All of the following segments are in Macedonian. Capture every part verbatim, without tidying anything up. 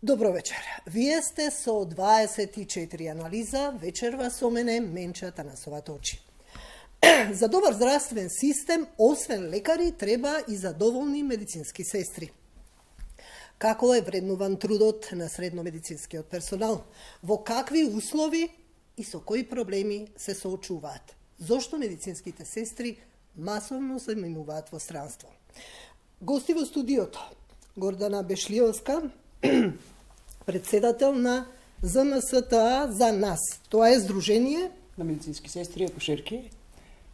Добро вечер. Вие сте со дваесет и четири анализа, вечерва со мене Менча Танасовата очи. За добар здравствен систем, освен лекари, треба и задоволни медицински сестри. Како е вреднуван трудот на средномедицинскиот персонал? Во какви услови и со кои проблеми се соочуваат? Зошто медицинските сестри масовно се минуваат во странство? Гости во студиото: Гордана Бешлиовска, председател на З М С Т А за нас. Тоа е Сдружение на медицински сестри, акушерки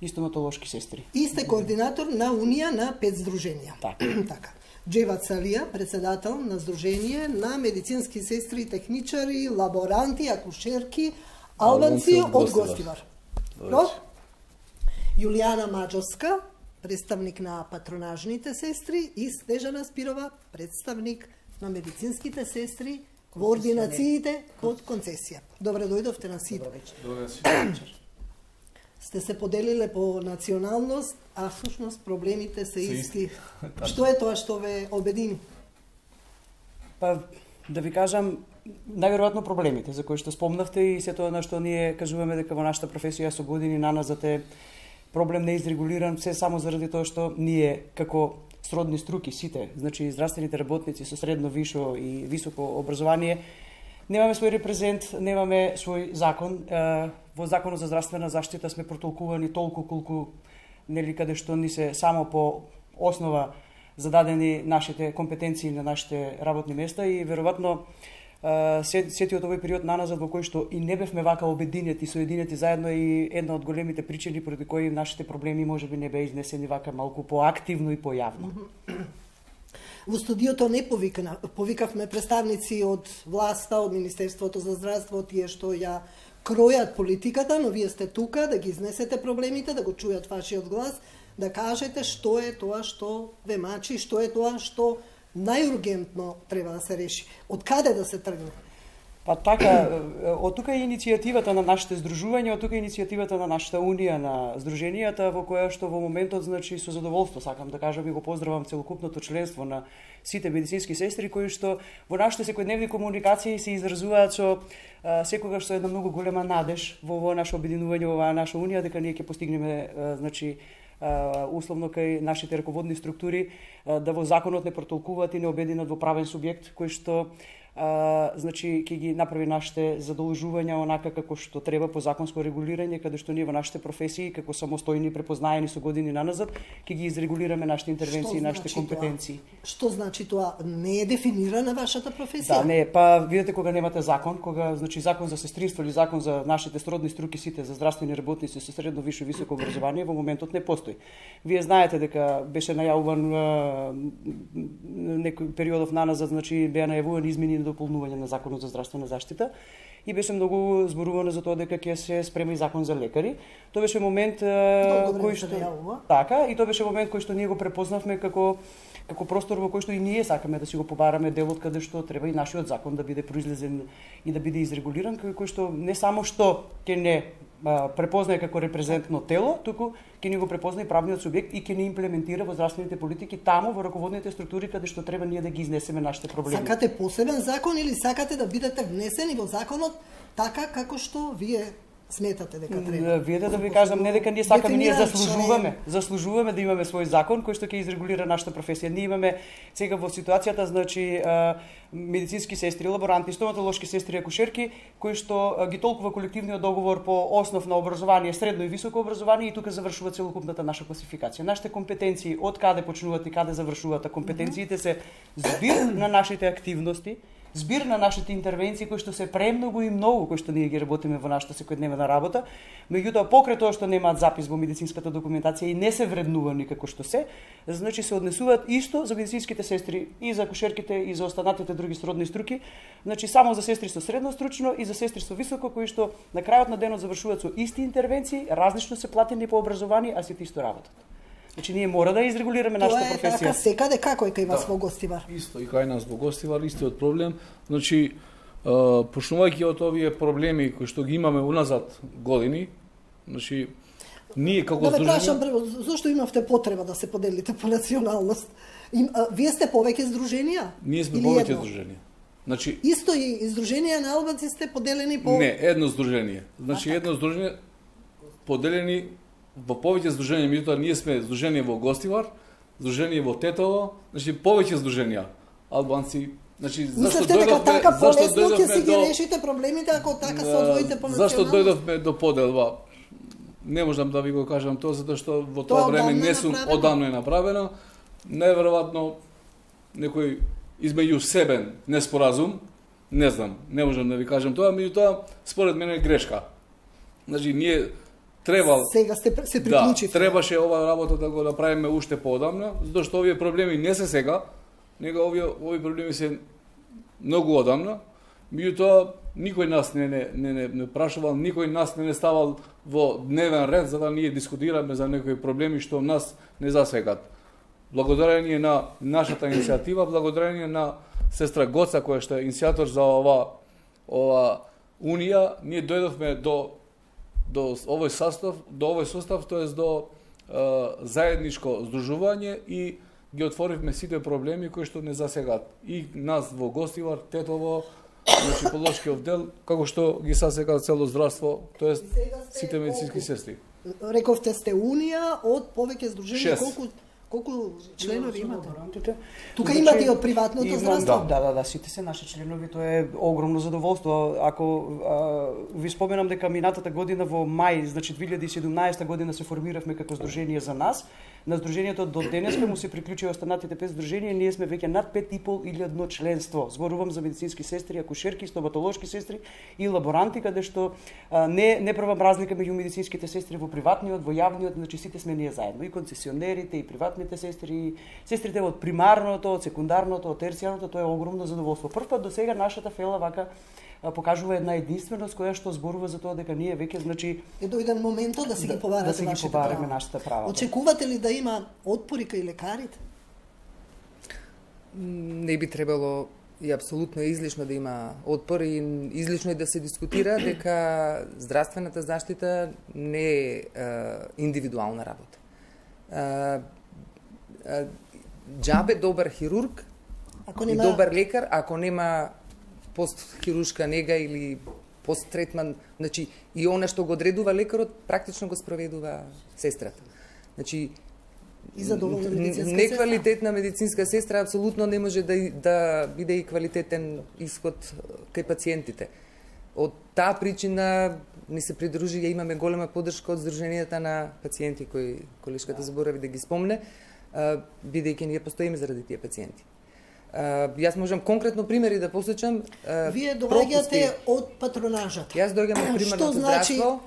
и стоматолошки сестри. И сте координатор на Унија на пет здруженија. Така. така. Джева Цалија, председател на Сдружение на медицински сестри, техничари, лаборанти, акушерки, албанци од Гостивар. Добро? Јулијана Маџовска, представник на патронажните сестри, и Снежана Спирова, представник на медицинските сестри во ординациите под концесија. Добре дојдовте на сите. Добре вечер. Сте се поделиле по националност, а всушност проблемите се исти. Што е тоа што ве обедини? Па, да ви кажам, најверојатно проблемите за кои што спомнавте и се тоа на што ние кажуваме дека во нашата професија со години наназад е проблем неизрегулиран, се само заради тоа што ние како сродни струки сите, значи здравствените работници со средно, вишо и високо образование, немаме свој репрезент, немаме свој закон. Во Законот за здравствена заштита сме протолкувани толку колку, нели, каде што ни се само по основа зададени нашите компетенции на нашите работни места и веројатно сетиот овој период наназад во кој што и не бевме вака обединети, соединети заедно, и една од големите причини поради кои нашите проблеми можеби не беа изнесени вака малку поактивно и појавно. Во студиото не повикна, повикавме представници од власта, од Министерството за здравство, тие што ја кројат политиката, но вие сте тука да ги изнесете проблемите, да го чујат вашиот глас, да кажете што е тоа што ве мачи, што е тоа што најургентно треба да се реши. Од каде да се тргне? Па така, од тука е иницијативата на нашите здружувања, од тука е иницијативата на нашата Унија на здруженијата, во која што во моментот, значи, со задоволство сакам да кажам и го поздравам целокупното членство на сите медицински сестри кои што во нашите секојдневни комуникации се изразуваат со а, секогаш со една многу голема надеж во во наше обединување, во оваа наша Унија, дека ние ќе постигнеме, а, значи, Uh, условно кај нашите раководни структури, uh, да во законот не протолкуваат и не обединат во правен субјект кој што uh, значи ќе ги направи нашите задолжувања онака како што треба по законско регулирање, каде што ние во нашите професии како самостојни препознаени со години наназад ќе ги изрегулираме нашите интервенции и нашите значи компетенции. Тоа? Што значи тоа? Не е дефинирана вашата професија? Да, не, па видите кога немате закон, кога значи закон за сестринство или закон за нашите сродни струки сите за здравствени работници со средно, висше, високо образование во моментот не постои. Вие знаете дека беше најавуван некој периодов наназад, значи беа најавувани измени и дополнување на Законот за здравствена заштита и беше многу зборувано за тоа дека ќе се спрема и закон за лекари. Тоа беше момент кој што така и тоа беше момент кој што ние го препознавме како како простор во кој што и ние сакаме да си го побараме делот каде што треба и нашиот закон да биде произлезен и да биде изрегулиран, кој што не само што ќе не а, препознае како репрезентно тело, туку ќе ни го препознае и правниот субјект и ќе ни имплементира во здравствените политики таму во раководните структури каде што треба ние да ги изнесеме нашите проблеми. Сакате посебен закон или сакате да бидете внесени во законот така како што вие сметате дека треба? Вие да ви кажам, не дека ние сакаме, ние заслужуваме, заслужуваме да имаме свој закон кој што ќе изрегулира нашата професија. Ние имаме сега во ситуацијата, значи, медицински сестри, лаборанти, стоматолошки сестри, акушерки, кои што ги толкува колективниот договор по основ на образование, средно и високо образование, и тука завршува целокупната наша класификација. Нашите компетенции, од каде почнуваат и каде завршуваат, а компетенциите се збир на нашите активности, збир на нашите интервенции кои што се премногу и многу, кои што ние ги работиме во нашата секојдневна работа, меѓутоа покрај тоа што немаат запис во медицинската документација и не се вреднувани како што се, значи се однесуваат исто за медицинските сестри и за акушерките и за останатите други сродни струки, значи само за сестри со средно стручно и за сестри со високо, кои што на крајот на денот завршуваат со исти интервенции, различно се платени по образование, а сите исто работат. Значи ние мора да изрегулираме нашата професија. Тоа е така секаде, како е кај вас да, во Гостивар? Исто и кај нас во Гостивар, истиот проблем. Значи, почнувајќи од овие проблеми кои што ги имаме уназад години, значи ние како да здружение... Да ве прашам, зошто имавте потреба да се поделите по националност? Им, а, вие сте повеќе здруженија? Ние сме повеќе здруженија. Значи Исто и издруженија на албанци сте поделени по не, едно здружение. Значи едно здружение поделени во повеќе здруженија, меѓутоа ние сме здружение во Гостивар, здружение во Тетово, значи повеќе здруженија албанци. Значи зашто Мислевте дека дојдовме, така зашто полесно ќе дојдовме си ги до решите проблемите ако така се одвоите по Зашто националност? дојдовме до поделба? Не можам да ви го кажам тоа затоа што во тоа Тоа време одамна не е сум направено? одамно е направено. Неверојатно некој измеѓу себе неспоразум, не знам, не можам да ви кажам тоа, меѓутоа според мене е грешка. Значи ние требал Сега сте се да, приклучивте. требаше ова работа да го направиме уште поодамна, затоа што овие проблеми не се сега, него овие овие проблеми се многу одамна. Меѓутоа никој нас не не не не, не прашувал, никој нас не не ставал во дневен ред за да ние дискутираме за некои проблеми што нас не засегат. Благодарение на нашата иницијатива, благодарение на сестра Гоца која што е иницијатор за ова ова унија, ние дојдовме до до овој состав, до овој состав, тоест до е, заедничко здружување и ги отворивме сите проблеми кои што не засегат и нас во Гостивар, Тетово, значи полошкиот дел, како што ги засега цело здравство, тоест сите медицински сестри. Рековте сте унија од повеќе здруженија, Шест. колку колку членови имате? Лаборантите. Тука Значи, имате и од приватното имам- здравство? Да, да, да, сите се наши членови, тоа е огромно задоволство. Ако а, ви споменам дека минатата година во мај, значи две илјади и седумнаесета година се формиравме како здружение за нас. На здружението до денеска му се приклучи останатите пет здруженија, ние сме веќе над пет и пол илјадно членство. Зборувам за медицински сестри, акушерки, стоматолошки сестри и лаборанти, каде што а, не не правам разлика меѓу медицинските сестри во приватниот, во јавниот, значи сите сме ние заедно, и концесионерите, и приватните сестри, и сестрите од примарното, од секундарното, од терцијарното, тоа е огромно задоволство. Прв пат до сега нашата фела вака а, покажува една единственост која што зборува за тоа дека ние веќе значи Е дојден моментот да си Да- ги побарате да си ги вашите побараме права. нашите права, да. Очекувате ли да има отпори кај лекарите? Не би требало и апсолутно е излишно да има отпор и излишно е да се дискутира дека здравствената заштита не е, е индивидуална работа. Е, е, џабе добар хирург Ако и нема добар лекар, ако нема постхируршка нега или посттретман, значи и она што го одредува лекарот, практично го спроведува сестрата. Значи и задоволна медицинска сестра? неквалитетна медицинска сестра апсолутно не може да и- да биде и квалитетен исход кај пациентите. Од таа причина ни се придружи и имаме голема поддршка од Сдруженијата на пациенти кои колешката заборави да ги спомне, а, бидејќи ние постоиме заради тие пациенти. А, јас можам конкретно примери да посечам. а, Вие пропусти. доаѓате од патронажата. Јас доаѓам од Што примарното значи здравство.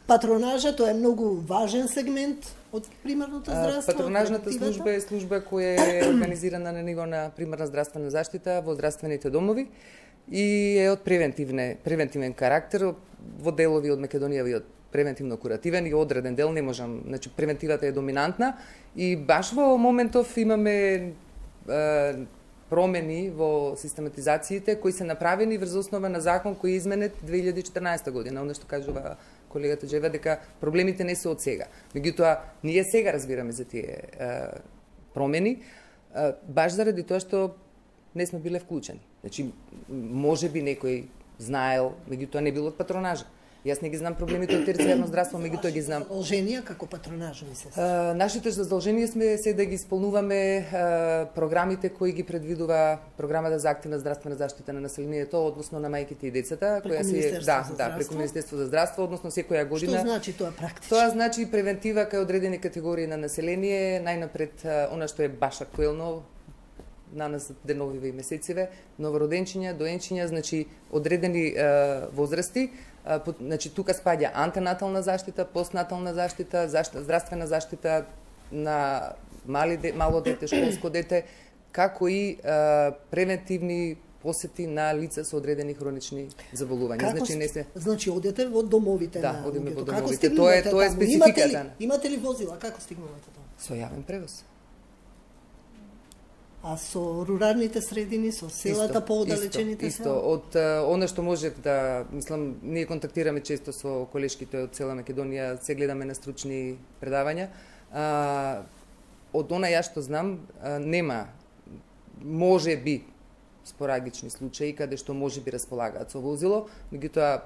патронажата е многу важен сегмент од примарното А, здравство? Патронажната превентивата? служба е служба која е организирана на ниво на примарна здравствена заштита во здравствените домови и е од превентивне, превентивен карактер, во делови од Македонија и од превентивно-куративен и одреден дел не можам, значи превентивата е доминантна и баш во моментов имаме е, промени во систематизациите кои се направени врз основа на закон кој е изменет две илјади и четрнаесета година, оно што кажува колегата Джева дека проблемите не се од сега. Меѓутоа, ние сега разбираме за тие е, промени, е, баш заради тоа што не сме биле вклучени. Значи, може би некој знаел, меѓутоа не бил од патронажа. Јас не ги знам проблемите од терцијарно здравство, меѓутоа ги знам. Задолженија како патронажни сестри. А, нашите задолженија сме се да ги исполнуваме а, програмите кои ги предвидува програмата за активна здравствена заштита на населението, односно на мајките и децата, Преку која се Министерство да, за да, преку здравство? Министерство за здравство, односно секоја година. Што значи тоа практично? Тоа значи превентива кај одредени категории на население, најнапред а, она што е баш актуелно на нас деновиве и месециве, новороденчиња, доенчиња, значи одредени е, возрасти, е, по, значи тука спаѓа антенатална заштита, постнатална заштита, заштита, здравствена заштита на мали де, мало дете, школско дете, како и е, превентивни посети на лица со одредени хронични заболувања. Како Значи сте- не се значи одите во домовите Да, на одиме во луѓето. домовите. Како стигнувате Тоа е- тоа е таму? Имате ли, спецификата. имате ли возила? Како стигнувате таму? со јавен превоз. А со руралните средини, со селата поодалечените исто, села? исто. Од е, она што можев да, мислам, ние контактираме често со колешките од цела Македонија, се гледаме на стручни предавања. А, од она ја што знам, а, нема, може би, спорагични случаи каде што можеби располагаат со возило, меѓутоа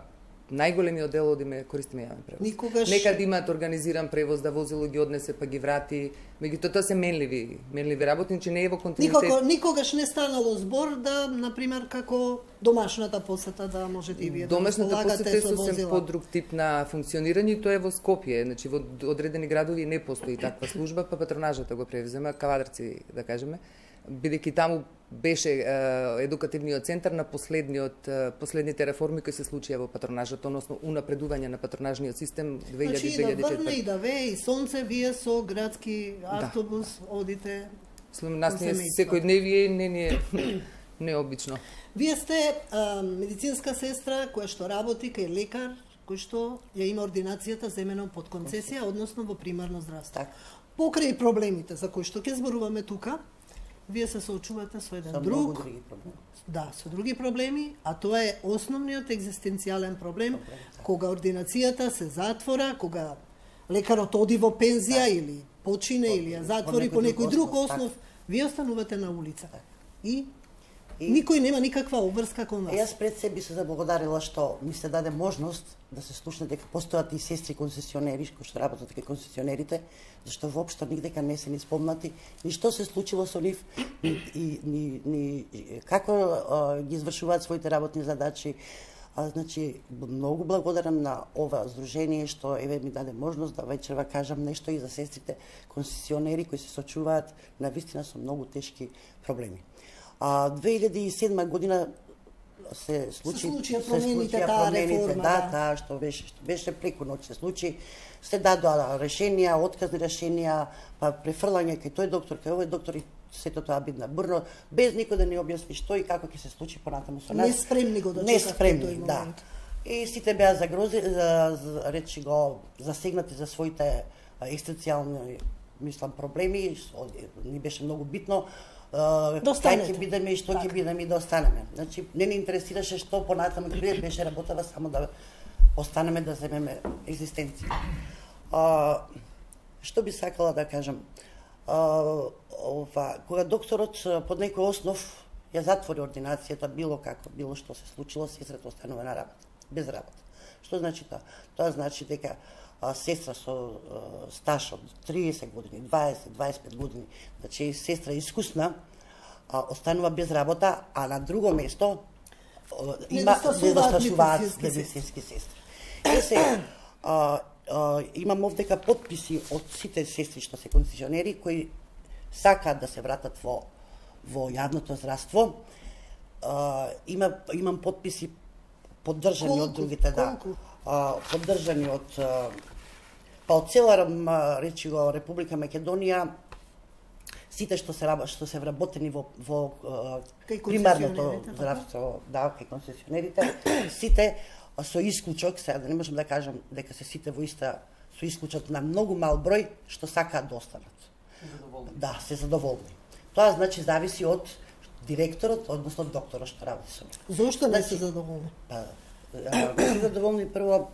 најголемиот дел одиме користиме јавен превоз. Никогаш... Некад имаат организиран превоз да возило ги однесе па ги врати, меѓутоа тоа се менливи, менливи работници, не е во континуитет. Никога, никогаш не станало збор да, например, како домашната посета да можете и вие да Домашната посета е со сосем возила. подруг тип на функционирање, и тоа е во Скопје, значи во одредени градови не постои таква служба, па патронажата го превзема, Кавадарци да кажеме, бидејќи таму беше е, едукативниот центар на последниот е, последните реформи кои се случија во патронажот, односно унапредување на патронажниот систем две илјади Значи, две илјади да врне четврта. и да вее и сонце, вие со градски автобус да. одите. Слем, нас со не семејство. секојдневие не ни е необично. Вие сте а, медицинска сестра која што работи кај лекар, кој што ја има ординацијата земено под концесија, односно во примарно здравство. Так. Покрај проблемите за кои што ќе зборуваме тука, вие се соочувате со еден Со друг, многу други проблеми. да, со други проблеми, а тоа е основниот екзистенцијален проблем, кога ординацијата се затвора, кога лекарот оди во пензија или почине или ја затвори по некој друг основ, вие останувате на улица. И И- никој нема никаква обврска кон вас. Јас пред себе се заблагодарила што ми се даде можност да се слушне дека постојат и сестри концесионери кои што работат кај концесионерите, зашто воопшто нигдека не се ни спомнати ни што се случило со нив, ни, и, ни, ни како а, ги извршуваат своите работни задачи. А, значи, многу благодарам на ова здружение што еве ми даде можност да вечерва кажам нешто и за сестрите концесионери кои се сочуваат навистина со многу тешки проблеми. А две илјади и седма година се случи случија промените, таа промените, реформа, да, да. таа што беше што беше преку ноќ се случи, се дадоа решенија, отказни решенија, па префрлање кај тој доктор, кај овој доктор и сето тоа бидна бурно, без никој да ни објасни што и како ќе се случи понатаму со нас. Неспремни го дочекавте Неспремни, тој да. момент. И сите беа загрози, за, за, речи го, засегнати за своите а, екзистенцијални, мислам, проблеми, со- ни беше многу битно, а, Да кај останете. ќе бидеме и што Така. ќе бидеме и да останеме. Значи, не ни интересираше што понатаму ќе биде, беше работава само да останеме да земеме екзистенција. А, што би сакала да кажам? А, ова, кога докторот а, под некој основ ја затвори ординацијата, било како, било што се случило, сестрата останува на работа, без работа. Што значи тоа? Тоа значи дека а, сестра со а, стаж од триесет години, дваесет, дваесет и пет години, значи сестра искусна, а, останува без работа, а на друго место а, има Недостасуваат недостасуваат медицински медицински сестри. Е се, а, а, имам овдека подписи од сите сестри што се концесионери кои сакаат да се вратат во во јавното здравство. А, има имам подписи поддржани Колку? од другите, да. Колку? А, поддржани од а, па од цела м, речи го Република Македонија, сите што се раб- што се вработени во во а, Кај примарното концесионерите, така? здравство, да, кај концесионерите, сите а, со исклучок, сега да не можам да кажам дека се сите во иста, со исклучок на многу мал број што сакаат да останат. Да, се задоволни. Тоа значи зависи од директорот, односно докторот што работи со нив. Зошто не Значи- се задоволни? Па, а, не се задоволни прво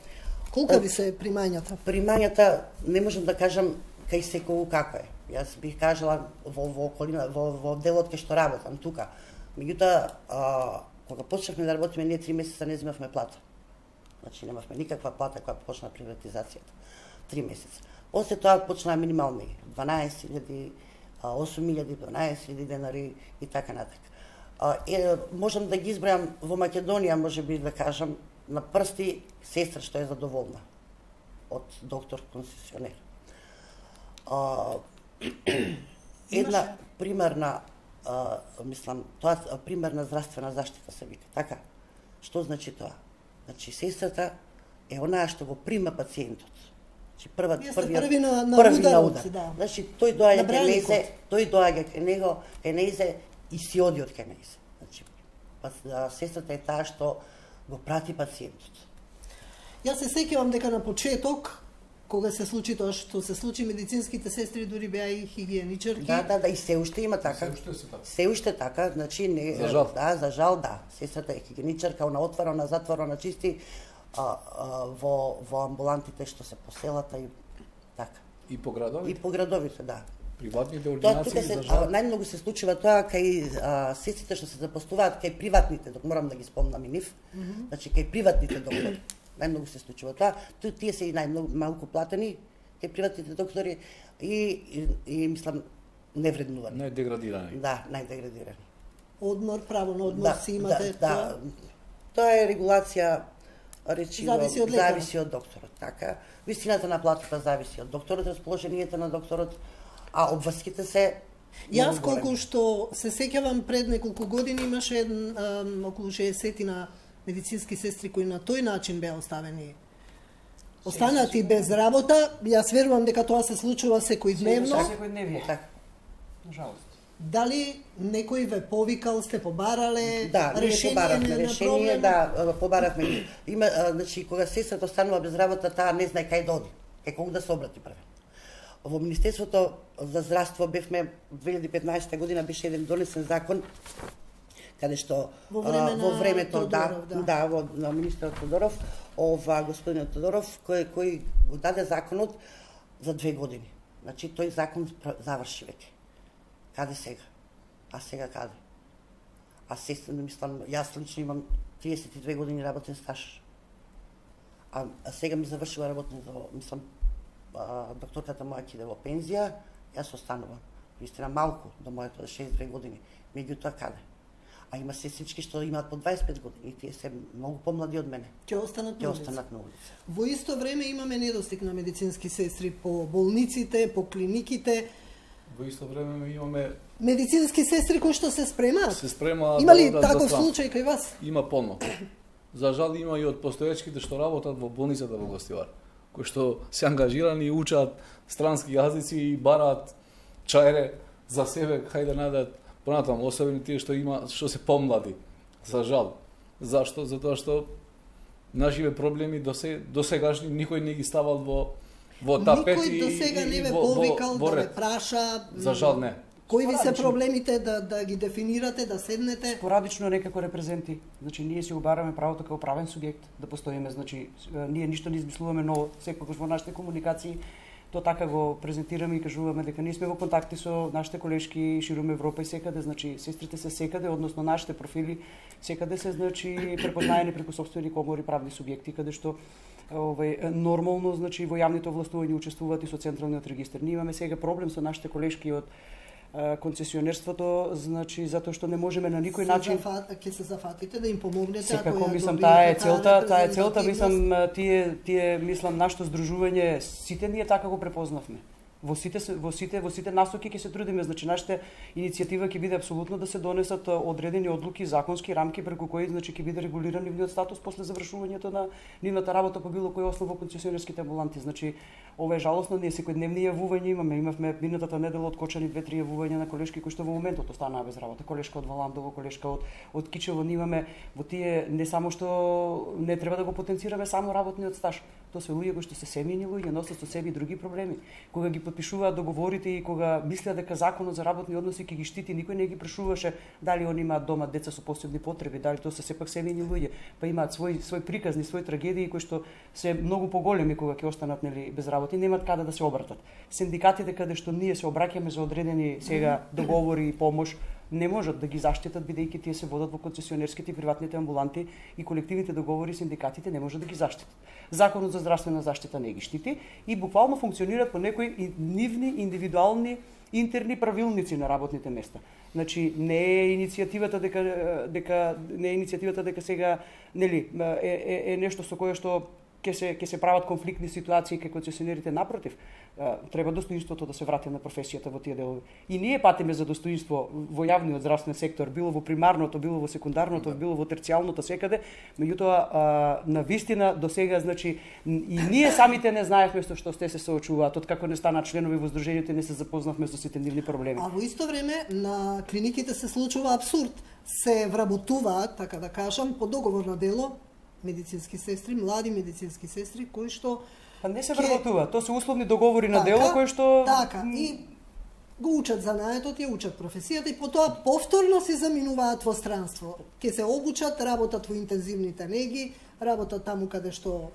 Колка ви се примањата? примањата, не можам да кажам кај секој како е. Јас бих кажала во во околина, во во делот кај што работам тука. Меѓутоа, а, кога почнавме да работиме, ние три месеца не земавме плата. Значи немавме никаква плата кога почна приватизацијата. Три месеца. После тоа почнаа минимални дванаесет илјади, осум илјади, дванаесет илјади денари и така натаму. А, е, можам да ги избројам во Македонија, може би да кажам, на прсти сестра што е задоволна од доктор концесионер. А, една примерна, а, мислам, тоа а, примерна здравствена заштита се вика, така? Што значи тоа? Значи сестрата е онаа што го прима пациентот. Значи прва Вие сте првиот први на- на први на ударот, удар. да. Значи тој доаѓа На кај браникот. незе, тој доаѓа кај него, кај незе и си оди од кај незе. Значи па, а, сестрата е таа што го прати пациентот. Јас се сеќавам дека на почеток, кога се случи тоа што се случи, медицинските сестри дури беа и хигиеничарки. Да, да, да, и се уште има така. Се уште се така. Се уште така, значи не За жал. да, за жал да. Сестрата е хигиеничарка, она отвара, она затвора, она чисти а, а, во во амбулантите што се по селата и така. И по градови? И по градовите, да. Приватните Тоа ординации тука се за жал. најмногу се случува тоа кај а, сестрите што се запослуваат кај приватните, док морам да ги спомнам и нив. Mm -hmm. Значи кај приватните доктори. Најмногу се случува тоа. Ту, тие се и најмногу малку платени кај приватните доктори и, и, и мислам невреднувани. Најдеградирани. Да, најдеградирани. Одмор, право на одмор Да, си имате. да, да. Тоа е регулација речиво Зависи од лекарот. зависи од докторот, така. Висината на платата зависи од докторот, расположението на докторот, а обврските се Јас многу големи. колку што се сеќавам пред неколку години имаше ем, околу шеесет на медицински сестри кои на тој начин беа оставени останати без работа. Јас верувам дека тоа се случува секојдневно. Секој дневно. Така. Нажалост. Дали некој ве повикал, сте побарале Да, ние решение побаравме на, на решение, проблем? да, побаравме. Има, а, значи, кога сестрата останува без работа, таа не знае кај да оди, кај кого да се обрати прво. Во Министерството за здравство бевме две илјади и петнаесетта година беше еден донесен закон каде што Во време а, на во времето Тодоров, да, да. да, во на министерот Тодоров, ова господин Тодоров кој кој го даде законот за две години. Значи тој закон заврши веќе. Каде сега? А сега каде? А сестра, мислам, јас лично имам триесет и две години работен стаж. А, а сега ми завршува работното, мислам, а, докторката моја ќе иде во пензија, јас останувам. Вистина малку до моето шеесет и две години. Меѓутоа каде? А има сестрички што имаат по дваесет и пет години и тие се многу помлади од мене. Ќе останат Ќе на улица. останат на улица. Во исто време имаме недостиг на медицински сестри по болниците, по клиниките, Во исто време имаме медицински сестри кои што се спремаат. се спрема Има ли да одат за таков страна. случај кај вас? Има полно. За жал има и од постоечките што работат во болницата во Гостивар, кои што се ангажирани и учат странски јазици и бараат чајре за себе, хајде најдат понатаму, особено тие што има што се помлади. За жал. Зашто? Затоа што нашиве проблеми до се до сегашни никој не ги ставал во во тапети Никој до сега не ве во- во- повикал во да ве ред. праша. За жал не. Кои ви се Спорадично. проблемите да да ги дефинирате, да седнете? Спорадично некако репрезенти. Значи ние си обараме правото како правен субјект да постоиме, значи ние ништо не измислуваме ново, секогаш во нашите комуникации то така го презентираме и кажуваме дека ние сме во контакти со нашите колешки ширум Европа и секаде, значи сестрите се секаде, односно нашите профили секаде се значи препознаени преку сопствени комори правни субјекти каде што овај нормално значи во јавните овластувања учествуваат и со централниот регистар. Ние имаме сега проблем со нашите колешки од концесионерството, значи затоа што не можеме на никој Се начин зафат, ќе се зафатите да им помогнете. секако ако ја мислам добиете таа е целта, таа е целта, репрезентативност. мислам тие тие мислам нашето здружување сите ние така го препознавме. Во сите во сите во сите насоки ќе се трудиме, значи нашата иницијатива ќе биде апсолутно да се донесат одредени одлуки, законски рамки преку кои значи ќе биде регулиран нивниот статус после завршувањето на нивната работа по било кој основа во концесионерските амбуланти. Значи ова е жалосно, ние секојдневни јавувања имаме, имавме минатата недела откочени две-три јавувања на колешки кои што во моментот останаа без работа. Колешка од Валандово, колешка од од Кичево, ние имаме во тие не само што не треба да го потенцираме само работниот стаж. Тоа се луѓе кои што се семејни луѓе, носат со себе и други проблеми. Кога ги подпишуваат договорите и кога мислеа дека законот за работни односи ќе ги штити, никој не ги прашуваше дали они имаат дома деца со посебни потреби, дали тоа се сепак семејни луѓе, па имаат свој свој приказни, свои трагедии кои што се многу поголеми кога ќе останат нели без работа и немаат каде да се обратат. Синдикатите каде што ние се обраќаме за одредени сега договори и помош не можат да ги заштитат бидејќи тие се водат во концесионерските и приватните амбуланти и колективните договори синдикатите не можат да ги заштитат. Законот за здравствена заштита не ги штити и буквално функционираат по некои нивни индивидуални интерни правилници на работните места. Значи не е иницијативата дека дека не е иницијативата дека сега нели е, е, е нешто со кое што ќе се ќе се прават конфликтни ситуации кај концесионерите, напротив, треба достоинството да се врати на професијата во тие делови. И ние патиме за достоинство во јавниот здравствен сектор, било во примарното, било во секундарното, било во терцијалното секаде, меѓутоа на вистина до сега значи и ние самите не знаевме со што сте се соочуваат, откако не стана членови во здруженијето не се запознавме со сите нивни проблеми. А во исто време на клиниките се случува абсурд. Се вработуваат, така да кажам, по договор на дело медицински сестри, млади медицински сестри кои што Па не се ке... вработува, тоа се условни договори на така, дело кои што така и го учат занаетот, ја учат професијата и потоа повторно се заминуваат во странство. Ке се обучат, работат во интензивните неги, работат таму каде што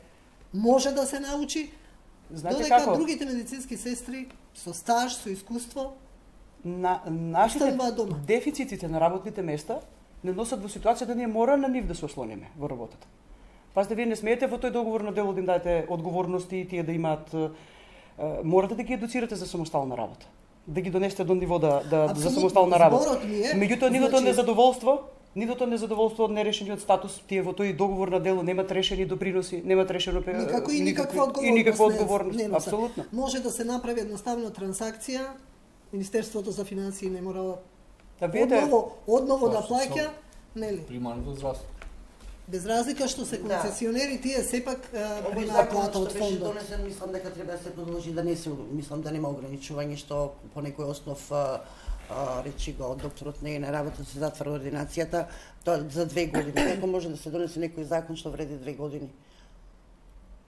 може да се научи, Знаете Додека како? другите медицински сестри со стаж, со искуство, На, нашите остануваат дома. дефицитите на работните места не носат во ситуација да ние мора на нив да се ослониме во работата. Пазите, вие не смеете во тој договор на дело да им дадете одговорности и тие да имаат, е, морате да ги едуцирате за самостална работа. Да ги донесете до ниво да, да за самостална работа. Зборот ми е, Меѓутоа, нивото значи- незадоволство, нивото незадоволство од нерешениот статус, тие во тој договор на дело немаат решени доприноси, немаат решено пе- никако и никаква одговорност. и никаква не- одговорност, не носа. апсолутно. Може да се направи едноставно трансакција, Министерството за финансии не мора Да видите, одново, одново да Тоа што плаќа, нели? Примарното здравство. Без разлика што се Да. концесионери, тие сепак е, Овој примаат закон плата што од беше фондот. донесен, мислам дека треба да се продолжи, да не се, мислам да нема ограничување, што по некој основ, а, а, речи го, докторот не е на работа, се затвара ординацијата, тоа за две години. Како може да се донесе некој закон што вреди две години?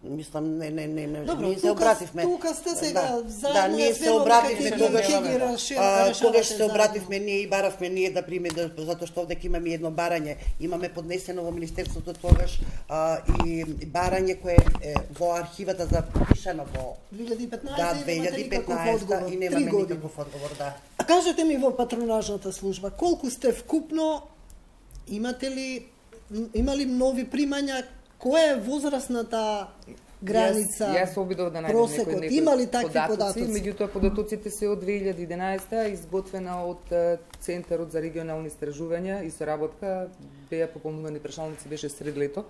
Мислам, не, не, не, не, Добро, ние се тука- обративме. тука сте сега да, заедно, да, ние ја се сведоме обративме дека ќе ги- тогаш, ќе ги реши- а, решавате тогаш се заедно. обративме ние и баравме ние да приме, да, затоа што овде ќе имаме едно барање. Имаме поднесено во Министерството тогаш а, и барање кое е во архивата запишано во две илјади и петнаесета да, и две немате илјади и никаков петнаесета одговор. и Три немаме години. никаков одговор, да. А кажете ми во патронажната служба, колку сте вкупно, имате ли, м, има ли нови примања, која е возрастната граница, Јас, јас обидов да најдам просекот, некој, некој има ли такви податоци, податоци? меѓутоа податоците се од две илјади и единаесета, изготвена од е, Центарот за регионални истражувања и соработка, беа пополнувани прашалници, беше сред лето,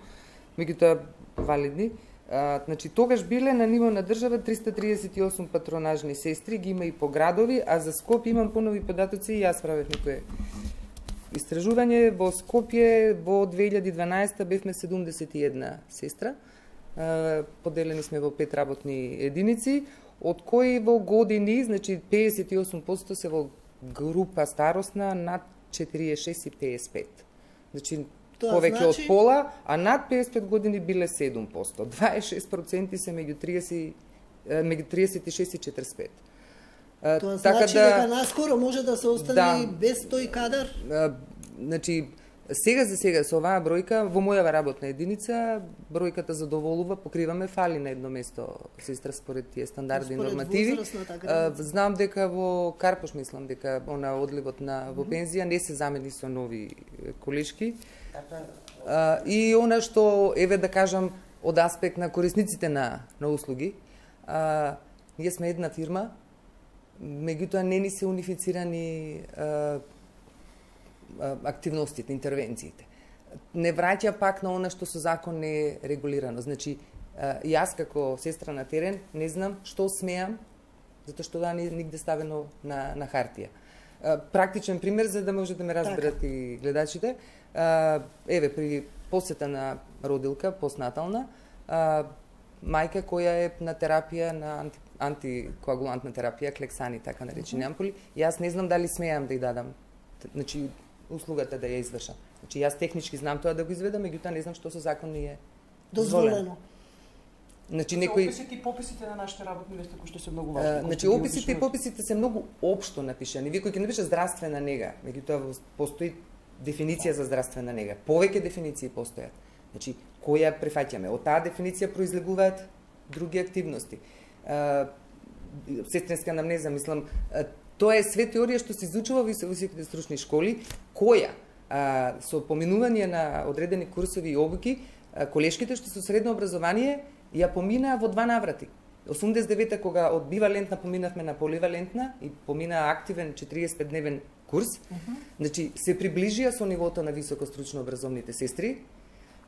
меѓутоа валидни. А, значи, тогаш биле на ниво на држава триста триесет и осум патронажни сестри, ги има и по градови, а за Скопје имам понови податоци и јас правев некое истражување. Во Скопје во две илјади и дванаесета бевме седумдесет и една сестра, а, поделени сме во пет работни единици, од кои во години, значи педесет и осум проценти се во група старосна над четириесет и шест и педесет и пет. Значи, Тоа повеќе значи- од пола, а над педесет и пет години биле седум проценти. дваесет и шест проценти се меѓу триесет, е, меѓу триесет и шест и четиресет и пет. Е, Тоа значи дека наскоро може да се остане Да. без тој кадар? е, значи, сега за сега со оваа бројка, во мојава работна единица, бројката задоволува, покриваме, фали на едно место сестра според тие стандарди и Според нормативи. возрастната Е, граница. Знам дека во Карпош, мислам дека она одливот на во пензија не се замени со нови е, колешки. А, и она што, еве да кажам, од аспект на корисниците на, на услуги, а, ние сме една фирма, меѓутоа не ни се унифицирани а, а, активностите, интервенциите. Не враќа пак на она што со закон не е регулирано. Значи, а, јас како сестра на терен не знам што смеам, затоа што да не е нигде ставено на, на хартија. А, практичен пример за да може да ме разберат и гледачите. А, еве, при посета на родилка, постнатална, а, мајка која е на терапија, на анти, антикоагулантна терапија, клексани, така наречени ампули, јас не знам дали смеам да ја дадам, значи, услугата да ја извршам. Значи, јас технички знам тоа да го изведам, меѓутоа не знам што со закон не е Дозволено. Значи, некои некои... описите и пописите на нашите работни места кои што се многу А, важни. кои значи, што ги описите и објаснуваат. пописите се многу општо напишани. Вие кој ќе напише здравствена нега, меѓутоа во- постои дефиниција за здравствена нега. Повеќе дефиниции постојат. Значи, која прифаќаме? Од таа дефиниција произлегуваат други активности. А, сестринска анамнеза, мислам, а, тоа е све теорија што се изучува во вис- високите стручни школи, која а, со поминување на одредени курсови и обуки, а, колешките што со средно образование ја поминаа во два наврати. осумдесет и девета кога од бивалентна поминавме на поливалентна и помина активен четириесет и пет дневен курс, uh -huh. значи се приближија со нивото на високостручно образовните сестри,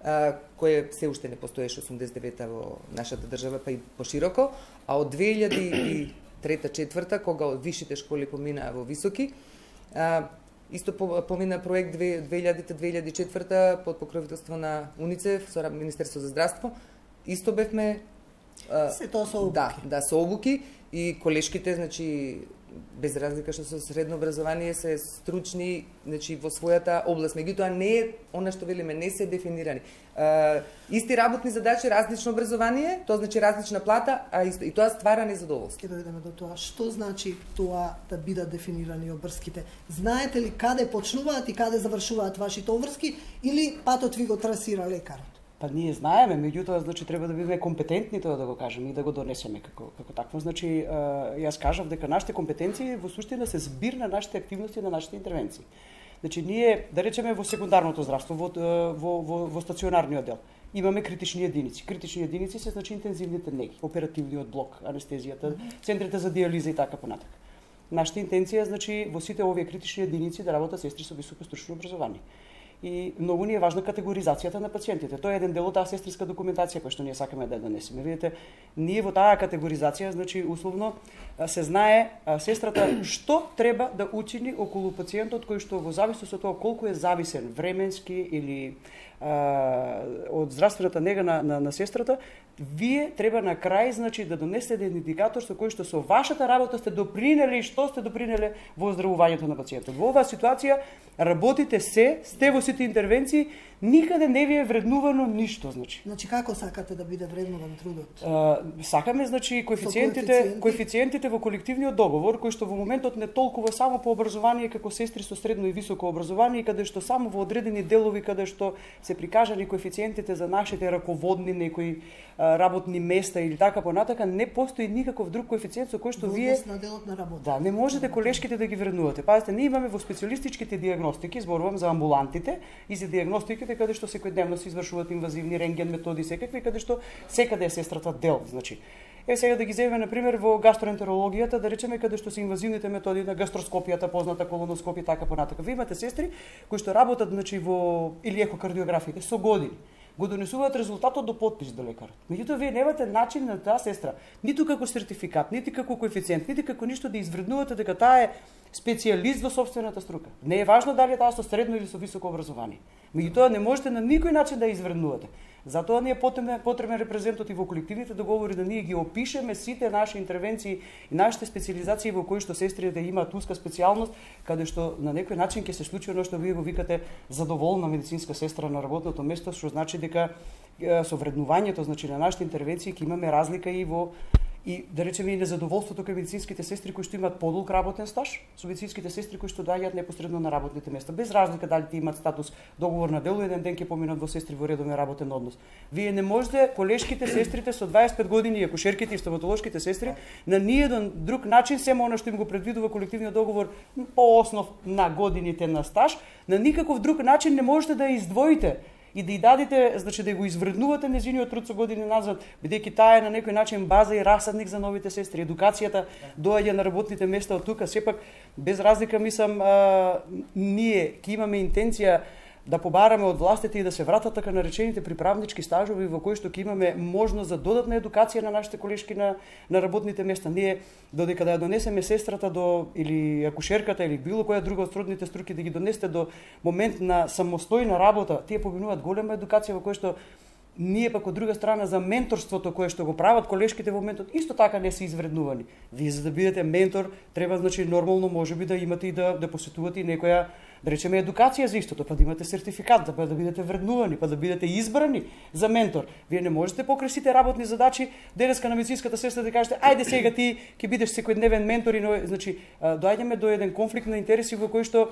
а, кое се уште не постоеше осумдесет и девета во нашата држава, па и пошироко, а од две илјади и трета-четврта, кога од висшите школи поминаа во високи, а, исто по- помина проект две илјади две илјади и четврта под покровителство на УНИЦЕФ со Министерство за здравство, исто бевме а, Се тоа со обуки. Да, да, со обуки и колешките, значи без разлика што со средно образование се стручни, значи во својата област, меѓутоа не е она што велиме, не се дефинирани. А, исти работни задачи, различно образование, тоа значи различна плата, а исто, и тоа ствара незадоволство. Ќе дојдеме до тоа. Што значи тоа да бидат дефинирани обврските? Знаете ли каде почнуваат и каде завршуваат вашите обврски или патот ви го трасира лекарот? Па ние знаеме, меѓутоа значи треба да бидеме компетентни тоа да го кажеме и да го донесеме како како такво. Значи јас кажав дека нашите компетенции во суштина се збир на нашите активности, на нашите интервенции. Значи ние да речеме во секундарното здравство, во во во, во стационарниот дел имаме критични единици. Критични единици се значи интензивните неги, оперативниот блок, анестезијата, центрите за дијализа и така понатака. Нашата интенција значи во сите овие критични единици да работат сестри со високо стручно образование. И многу ни е важна категоризацијата на пациентите. Тоа е еден дел од таа сестриска документација која што ние сакаме да донесеме. Видите, ние во таа категоризација, значи условно се знае сестрата што треба да учини околу пациентот кој што во зависност од тоа колку е зависен временски или а, од здравствената нега на, на, на сестрата, вие треба на крај значи да донесете еден индикатор со кој што со вашата работа сте допринели, што сте допринеле во оздравувањето на пациентот. Во оваа ситуација работите се, сте во сите интервенции, никаде не ви е вреднувано ништо, значи. Значи како сакате да биде вреднуван трудот? А, сакаме значи коефициентите, коефициентите во колективниот договор кои што во моментот не толкува само по образование како сестри со средно и високо образование, каде што само во одредени делови каде што се прикажани коефициентите за нашите раководни некои работни места или така понатака, не постои никаков друг коефициент со кој што вие на делот на работа. Да, не можете колешките да ги вреднувате. Пазите, ние имаме во специјалистичките диагностики, зборувам за амбулантите и за диагностиките каде што секојдневно се извршуваат инвазивни рентген методи секакви, каде што секаде е сестрата дел, значи. Е сега да ги земеме на пример во гастроентерологијата, да речеме каде што се инвазивните методи на гастроскопијата, позната колоноскопија така понатака. Ви имате сестри кои што работат значи во или екокардиографите со години. Го донесуваат резултатот до потпис до лекарот. Меѓутоа вие немате начин на таа сестра, ниту како сертификат, нити како коефициент, нити како ништо да извреднувате дека таа е специјалист во собствената струка. Не е важно дали е таа со средно или со високо образование. Меѓутоа не можете на никој начин да ја извреднувате. Затоа ни е потребен, потребен репрезентот и во колективните договори да ние ги опишеме сите наши интервенции и нашите специализации во кои што сестрите имаат уска специјалност, каде што на некој начин ќе се случи оно што вие го викате задоволна медицинска сестра на работното место, што значи дека со вреднувањето значи на нашите интервенции ќе имаме разлика и во и да речеме и незадоволството кај медицинските сестри кои што имаат подолг работен стаж, со медицинските сестри кои што доаѓаат непосредно на работните места, без разлика дали ти имаат статус договор на дело, еден ден ќе поминат во сестри во редовен работен однос. Вие не можете колешките сестрите со дваесет и пет години, акушерките и стоматолошките сестри на ниеден друг начин, семо она што им го предвидува колективниот договор по основ на годините на стаж, на никаков друг начин не можете да ја издвоите и да ја дадете, значи да го извреднувате незиниот труд со години назад, бидејќи таа е на некој начин база и расадник за новите сестри. Едукацијата доаѓа на работните места од тука, сепак без разлика мислам а, ние ќе имаме интенција да побараме од властите и да се вратат така наречените приправнички стажови во кои што ќе имаме можност за додатна едукација на нашите колешки на, на работните места. Ние додека да ја донесеме сестрата до или акушерката или било која друга од сродните струки да ги донесете до момент на самостојна работа, тие поминуваат голема едукација во која што ние пак од друга страна за менторството кое што го прават колешките во моментот исто така не се извреднувани. Вие за да бидете ментор треба значи нормално можеби да имате и да да посетувате и некоја да речеме едукација за истото, па да имате сертификат, да, па да бидете вреднувани, па да бидете избрани за ментор. Вие не можете покрај сите работни задачи денеска на медицинската сестра да кажете ајде сега ти ќе бидеш секојдневен ментор и но, значи доаѓаме до еден конфликт на интереси во кој што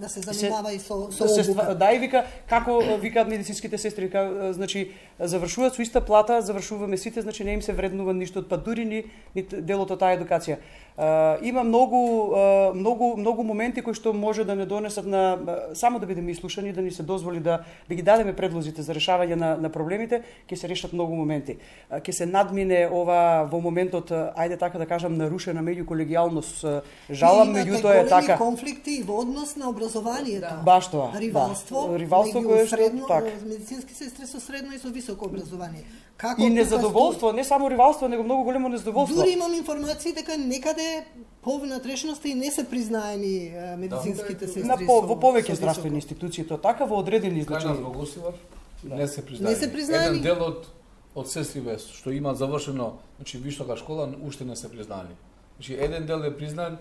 да се занимава се, и со со се, обука. Да, и вика како викаат медицинските сестри, како, значи завршуваат со иста плата, завршуваме сите, значи не им се вреднува ништо, па дури ни, ни делот од таа едукација. Uh, има многу uh, многу многу моменти кои што може да не донесат на uh, само да бидеме ислушани, да ни се дозволи да да ги дадеме предлозите за решавање на на проблемите, ќе се решат многу моменти. Uh, ќе се надмине ова во моментот, uh, ајде така да кажам, нарушена меѓуколегијалност, uh, жалам, меѓутоа е така. Конфликти и во однос на образованието. Да. Баш тоа. Ривалство, да. Ривалство кое што средно, така. Медицински сестри со средно и со високо образование. Како и незадоволство, не само ривалство, него многу големо незадоволство. Дури имам информации дека некаде по внатрешноста и не се признаени медицинските да. сестри. На по, во повеќе здравствени институции тоа така во одредени случаи. Во Гостивар да. не се признаени. Не се признаени. Еден дел од од сестри вес што имаат завршено, значи висока школа, уште не се признаени. Значи еден дел е признан,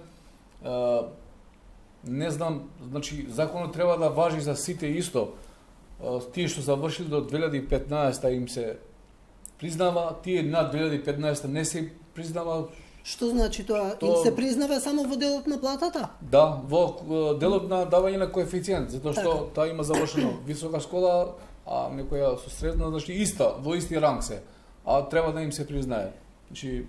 а, не знам, значи законот треба да важи за сите исто. А, тие што завршили до две илјади и петнаесета им се признава, тие над две илјади и петнаесета не се признава. Што значи тоа? То... Им се признава само во делот на платата? Да, во делот на давање на коефициент, затоа што така. Таа има завршено висока школа, а некоја со средна, значи иста, во исти ранг се, а треба да им се признае. Значи,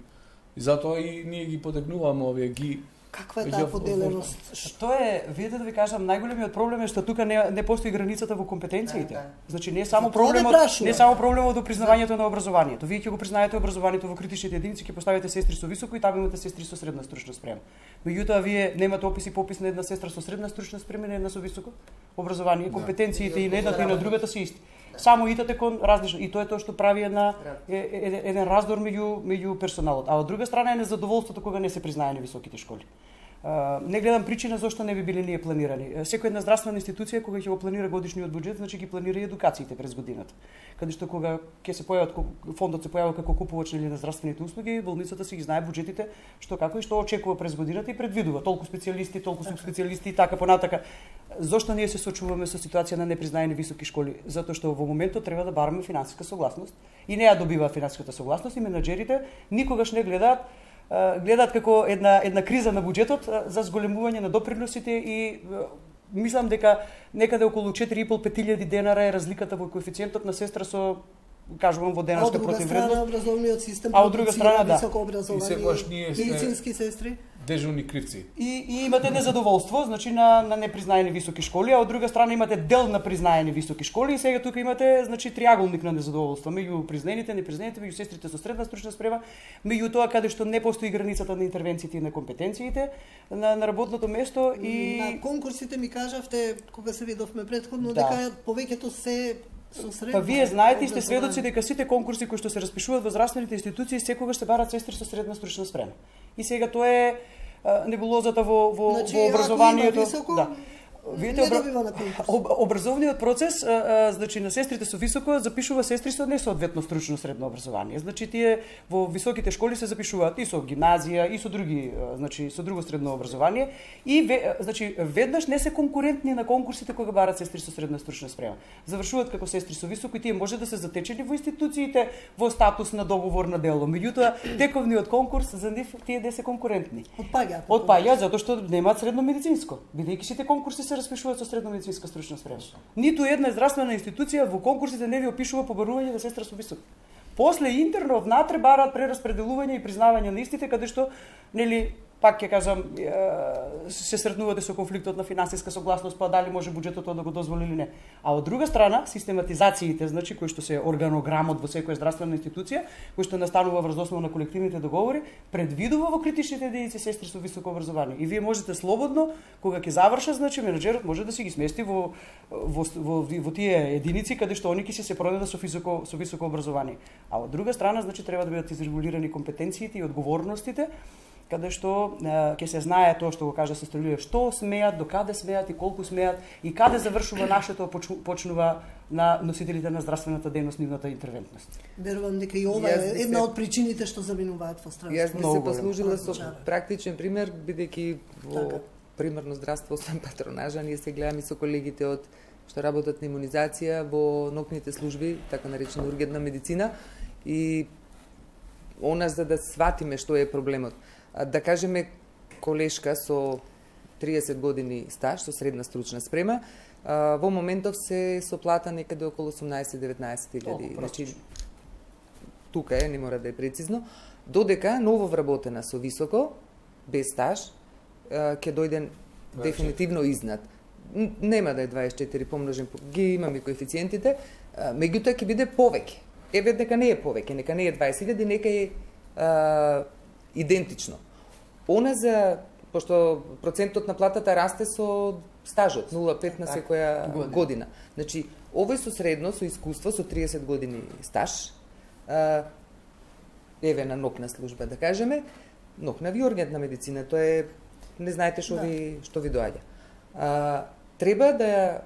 и затоа и ние ги потекнуваме овие ги. Каква е таа поделеност? Што е, видете да ви кажам, најголемиот проблем е што тука не не постои границата во компетенциите. Да, да. Значи не е само За тоа проблемот, не не е само проблемот до признавањето на образованието. Вие ќе го признаете образованието во критичните единици, ќе поставите сестри со високо и таму имате сестри со средна стручна спрема. Меѓутоа вие немате опис и попис на една сестра со средна стручна спрема и на една со високо образование. Компетенциите и на едната и на другата се исти. Само идете кон различно и тоа е тоа што прави една е, е, еден раздор меѓу меѓу персоналот. А од друга страна е незадоволството кога не се признаени високите школи. Uh, не гледам причина зашто не би биле ние планирани. Секоја една здравствена институција кога ќе го планира годишниот буџет, значи ги планира и едукациите през годината. Каде што кога ќе се појават фондот се појавува како купувач на здравствените услуги, болницата си ги знае буџетите што како и што очекува през годината и предвидува толку специјалисти, толку субспецијалисти и така понатака. Зошто ние се соочуваме со ситуација на непризнаени високи школи? Затоа што во моментот треба да бараме финансиска согласност и не ја добива финансиската согласност и менаџерите никогаш не гледаат гледаат како една една криза на буџетот за зголемување на доприносите и мислам дека некаде околу четири и пол пет илјади денара е разликата во коефициентот на сестра со кажувам во денарска противвредност. А од друга страна образовниот систем, а од друга страна да. Високо образование, и секогаш ние сме медицински сестри. Дежурни кривци. И, и имате незадоволство, значи на на непризнаени високи школи, а од друга страна имате дел на признаени високи школи и сега тука имате значи триаголник на незадоволство меѓу признаените, непризнаените, меѓу сестрите со средна стручна спрема, меѓу тоа каде што не постои границата на интервенциите и на компетенциите на, на работното место и на конкурсите ми кажавте кога се видовме претходно да. дека повеќето се со средна. Па вие знаете и сте сведоци дека сите конкурси кои што се распишуваат во здравствените институции секогаш се бараат сестри со средна стручна спрема. И сега тоа е а, небулозата во во, значи, во образованието. Високо, да. Видите, обра... об, образовниот процес, а, а, значи на сестрите со високо запишува сестри со несоодветно стручно средно образование. Значи тие во високите школи се запишуваат и со гимназија и со други, а, значи со друго средно образование и ве, значи веднаш не се конкурентни на конкурсите кога бараат сестри со средна стручна спрема. Завршуваат како сестри со високо и тие може да се затечени во институциите во статус на договор на дело. Меѓутоа тековниот конкурс за нив тие не се конкурентни. Отпаѓаат. Отпаѓаат затоа што немаат средно медицинско, бидејќи сите конкурси се распишуваат со средно медицинска стручна спрема. Ниту една здравствена институција во конкурсите не ви опишува побарување на сестра со висок. После интерно внатре бараат прераспределување и признавање на истите каде што нели пак ќе кажам се сретнувате со конфликтот на финансиска согласност, па дали може буџетот да го дозволи или не. А од друга страна, систематизациите, значи кои што се органограмот во секоја здравствена институција, кој што настанува врз основа на колективните договори, предвидува во критичните единици сестри со високо образование. И вие можете слободно кога ќе завршат, значи менаџерот може да си ги смести во во во, во тие единици каде што они ќе се се проведат со високо со високо образование. А од друга страна, значи треба да бидат изрегулирани компетенциите и одговорностите, каде што ќе се знае тоа што го кажа сестра Лилија, што смеат, до каде смеат и колку смеат и каде завршува нашето почнува на носителите на здравствената дејност нивната интервентност. Верувам дека и ова е една од причините што заминуваат во страната. Јас би се послужила со практичен пример, бидејќи во така. Примерно здравство освен патронажа, ние се гледаме со колегите од што работат на имунизација во ноќните служби, така наречена ургентна медицина и она за да сватиме што е проблемот. Да кажеме колешка со триесет години стаж, со средна стручна спрема, во моментов се со плата некаде околу осумнаесет-деветнаесет илјади. Значи, тука е, не мора да е прецизно. Додека ново вработена со високо, без стаж, ќе дојде дефинитивно изнад. Нема да е дваесет и четири помножен, ги имаме коефициентите, меѓутоа ќе биде повеќе. Еве дека не е повеќе, нека не е дваесет илјади, нека е а, идентично. Она за, пошто процентот на платата расте со стажот, нула целу пет на секоја година. година. Значи, овој со средно, со искуство, со триесет години стаж, а, еве на нокна служба, да кажеме, нокна ви ургентна медицина, тоа е, не знаете што да. ви, што ви доаѓа. А, треба да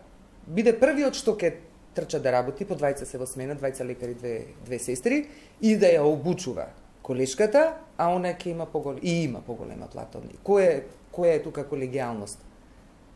биде првиот што ќе трча да работи, по двајца се во смена, двајца лекари, две, две сестри, и да ја обучува колешката, а она ќе има поголема, и има поголема плата од неј. Која, која е тука колегијалност?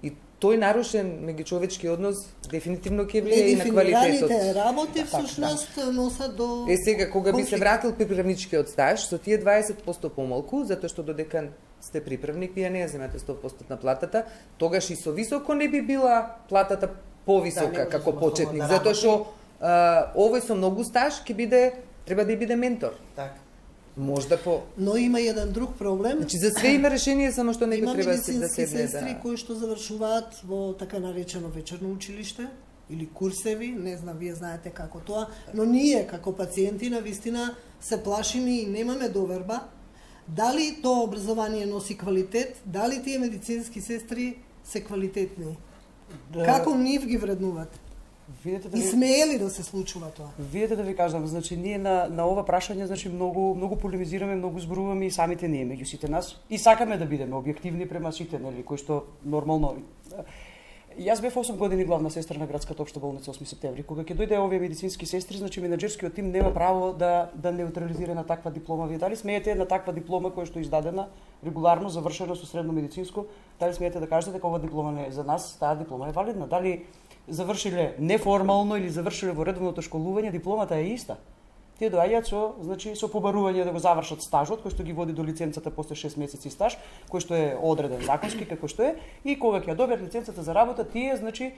И тој нарушен меѓучовечки однос дефинитивно ќе влие и на квалитетот. Недефинираните работи всушност носат до... Е сега, кога би се вратил приправничкиот стаж, со тие дваесет проценти помалку, затоа што додека сте приправник, вие не ја земате сто проценти на платата, тогаш и со високо не би била платата повисока да, како почетник, да затоа што а, овој со многу стаж ќе биде, треба да биде ментор. Така. Можда по... Но има еден друг проблем. Значи за све има решение, само што некој треба да седне да... Има медицински сестри кои што завршуваат во така наречено вечерно училиште или курсеви, не знам, вие знаете како тоа, но ние како пациенти на вистина се плашиме и немаме доверба дали тоа образование носи квалитет, дали тие медицински сестри се квалитетни. Да. Како нив ги вреднувате? Видете да и ви... смее ли да се случува тоа? Видете да ви кажам, значи ние на на ова прашање значи многу многу полемизираме, многу зборуваме и самите ние меѓу сите нас и сакаме да бидеме објективни према сите, нели, кои што нормално. Јас бев осум години главна сестра на градската општа болница осми септември. Кога ќе дојде овие медицински сестри, значи менаџерскиот тим нема право да да неутрализира на таква диплома. Вие дали смеете на таква диплома која што е издадена регуларно, завршена со средно медицинско, дали смеете да кажете дека ова диплома не е за нас, таа диплома е валидна? Дали завршиле неформално или завршиле во редовното школување, дипломата е иста. Тие доаѓаат со, значи, со побарување да го завршат стажот, кој што ги води до лиценцата после шест месеци стаж, кој што е одреден законски како што е, и кога ќе добијат лиценцата за работа, тие, значи,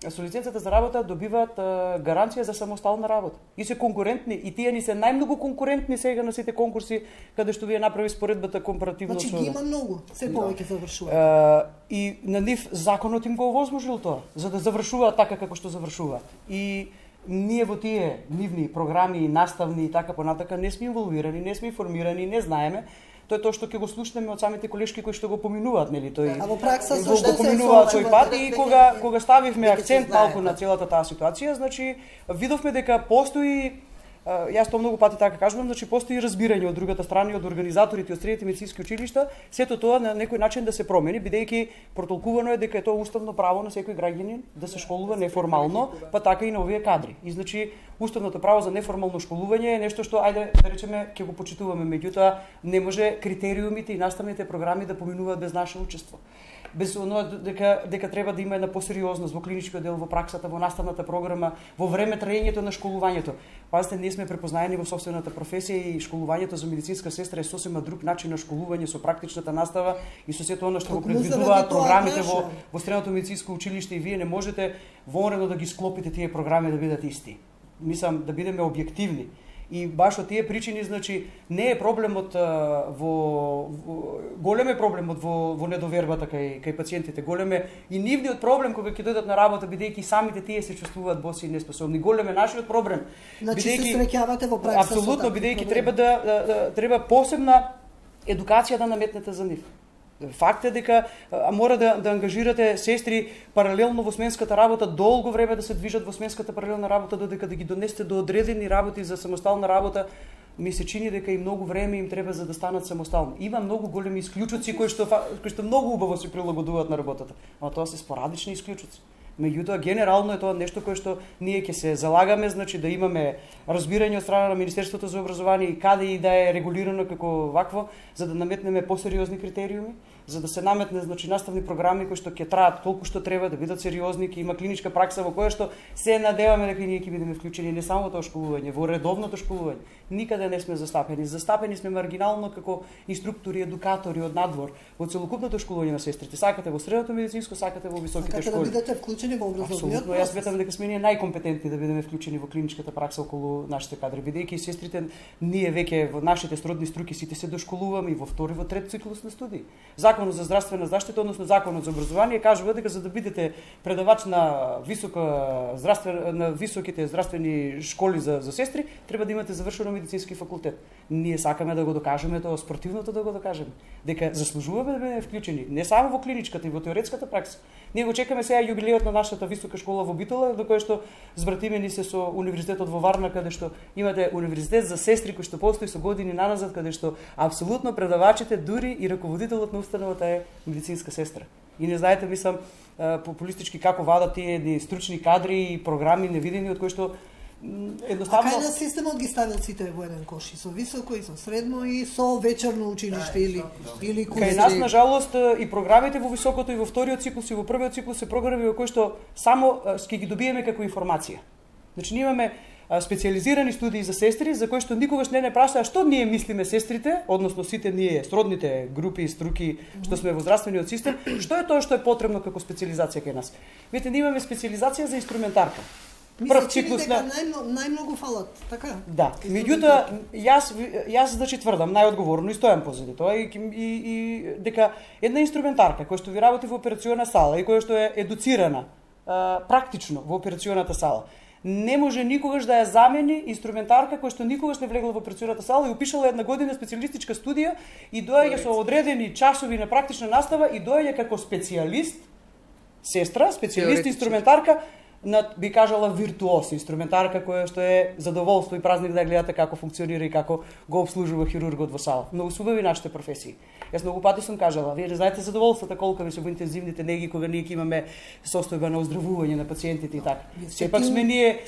со лиценцата за работа добиваат а, гаранција за самостална работа. И се конкурентни, и тие ни се најмногу конкурентни сега на сите конкурси каде што вие направи споредбата компаративно значи, со... Значи ги има многу, се повеќе завршуваат. И на нив законот им го овозможил тоа, за да завршуваат така како што завршуваат. И ние во тие нивни програми, наставни и така понатака не сме инволвирани, не сме информирани, не знаеме. Тоа е тоа што ќе го слушнеме од самите колешки кои што го поминуваат, нели, тој. А во пракса го, го поминуваат тој пат и кога кога ставивме акцент малку на целата таа ситуација, значи видовме дека постои, јас тоа многу пати така кажувам, значи постои разбирање од другата страна и од организаторите од средните медицински училишта, сето тоа на некој начин да се промени, бидејќи протолкувано е дека е тоа уставно право на секој граѓанин да се школува неформално, па така и на овие кадри. И значи уставното право за неформално школување е нешто што ајде да речеме ќе го почитуваме, меѓутоа не може критериумите и наставните програми да поминуваат без наше учество. Без оно дека дека треба да има една посериозност во клиничкиот дел, во праксата, во наставната програма, во време траењето на школувањето. Пазите, ние сме препознаени во собствената професија и школувањето за медицинска сестра е сосема друг начин на школување со практичната настава и со сето она што го предвидуваат програмите во во средното медицинско училиште, и вие не можете воорено да ги склопите тие програми да бидат исти. Мислам да бидеме објективни. И баш од тие причини, значи, не е проблемот а, во, во голем е проблемот во во недовербата кај кај пациентите. Голем е и нивниот проблем кога ќе дојдат на работа, бидејќи самите тие се чувствуваат боси и неспособни. Голем е нашиот проблем. Значи бидејќи се среќавате во пракса. Апсолутно, бидејќи треба да, да, да треба посебна едукација да наметнете за нив. Факт е дека а, мора да, да ангажирате сестри паралелно во сменската работа, долго време да се движат во сменската паралелна работа, додека да ги донесете до одредени работи за самостална работа. Ми се чини дека и многу време им треба за да станат самостални. Има многу големи исклучоци кои што кои што многу убаво се прилагодуваат на работата, но тоа се спорадични исклучоци. Меѓутоа, генерално е тоа нешто кое што ние ќе се залагаме, значи да имаме разбирање од страна на Министерството за образование и каде и да е регулирано како вакво, за да наметнеме посериозни критериуми, за да се наметне, значи, наставни програми кои што ќе траат толку што треба, да бидат сериозни, ќе има клиничка пракса во која што се надеваме дека ние ќе бидеме вклучени не само во тоа школување, во редовното школување. Никаде не сме застапени. Застапени сме маргинално како инструктори, едукатори од надвор во целокупното школување на сестрите. Сакате во средното медицинско, сакате во високите сакате школи. Да бидете вклучени во образовниот процес. Јас сметам дека сме ние најкомпетентни да бидеме вклучени во клиничката пракса околу нашите кадри, бидејќи сестрите ние веќе во нашите сродни струки сите се дошколуваме и во втори, во трет циклус на студии. Законот за здравствена заштита, односно Законот за образование кажува дека за да бидете предавач на висока здравствена на високите здравствени школи за за сестри, треба да имате завршено медицински факултет. Ние сакаме да го докажеме тоа, спортивното да го докажеме, дека заслужуваме да бидеме вклучени не само во клиничката и во теоретската пракса. Ние го чекаме сега јубилеот на нашата висока школа во Битола, до кој што збратимени се со универзитетот во Варна, каде што имате универзитет за сестри кој што постои со години наназад, каде што апсолутно предавачите, дури и раководителот на установата е медицинска сестра. И не знаете, мислам, популистички како вадат тие едни стручни кадри и програми невидени од кои што едноставно. А кај на системот ги ставил сите во еден кош, и со високо и со средно и со вечерно училиште или или курси? Кај нас на жалост и програмите во високото и во вториот циклус и во првиот циклус се програми во кои што само ќе ги добиеме како информација. Значи ние имаме специализирани студии за сестри за кои што никогаш не не прашаа што ние мислиме сестрите, односно сите ние сродните групи и струки што сме во здравствениот систем, што е тоа што е потребно како специализација кај нас. Видите, ние имаме специализација за инструментарка. прв циклус на на најмногу фалат, така? Да. Меѓутоа јас јас значи тврдам најодговорно и стојам позади тоа и, и, и дека една инструментарка која што ви работи во операционна сала и која што е едуцирана а, практично во операционната сала, не може никогаш да ја замени инструментарка која што никогаш не влегла во операционната сала и упишала една година специјалистичка студија и доаѓа со одредени часови на практична настава и доаѓа како специјалист, сестра, специјалист инструментарка, на, би кажала, виртуоз инструментарка која што е задоволство и празник да гледате како функционира и како го обслужува хирургот во сала. Многу се убави нашите професии. Јас многу пати сум кажала, вие не знаете задоволството колку ви се во интензивните неги кога ние имаме состојба на оздравување на пациентите и така. Сепак сме ние,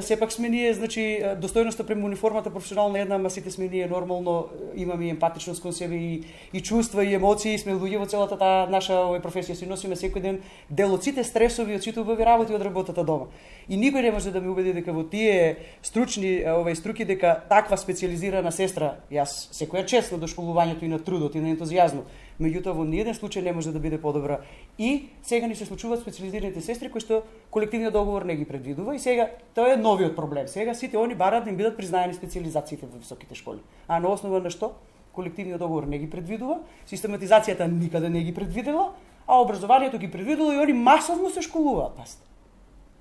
сепак сме ние, значи достојноста према униформата професионална една, ама сите сме ние нормално имаме емпатичност кон себе и, и чувства и емоции, сме луѓе во целата таа наша овој професија, си носиме секој ден дел од сите стресови, од сите убави работи од работата дома. И никој не може да ме убеди дека во тие стручни овај струки дека таква специјализирана сестра, јас секоја чест на дошколувањето и на трудот и на ентузијазмот, меѓутоа во ниеден случај не може да биде подобра. И сега ни се случуваат специјализираните сестри кои што колективниот договор не ги предвидува и сега тоа е новиот проблем. Сега сите они бараат да им бидат признаени специјализациите во високите школи. А на основа на што? Колективниот договор не ги предвидува, систематизацијата никаде не ги предвидела, а образованието ги предвидело и они масовно се школуваат, паста.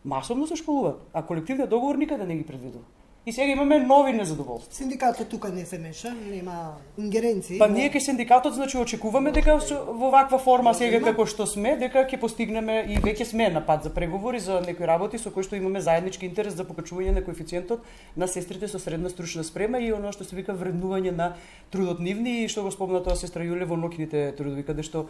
Масовно се школуваат, а колективниот договор никаде не ги предвидува. И сега имаме нови незадоволства. Синдикатот тука не се меша, нема ингеренции. Па ние кај синдикатот значи очекуваме дека во ваква форма сега како што сме, дека ќе постигнеме и веќе сме на пат за преговори за некои работи со кои што имаме заеднички интерес за покачување на коефициентот на сестрите со средна стручна спрема и оно што се вика вреднување на трудот нивни и што го спомна тоа сестра Јуле во ноќните трудови, каде што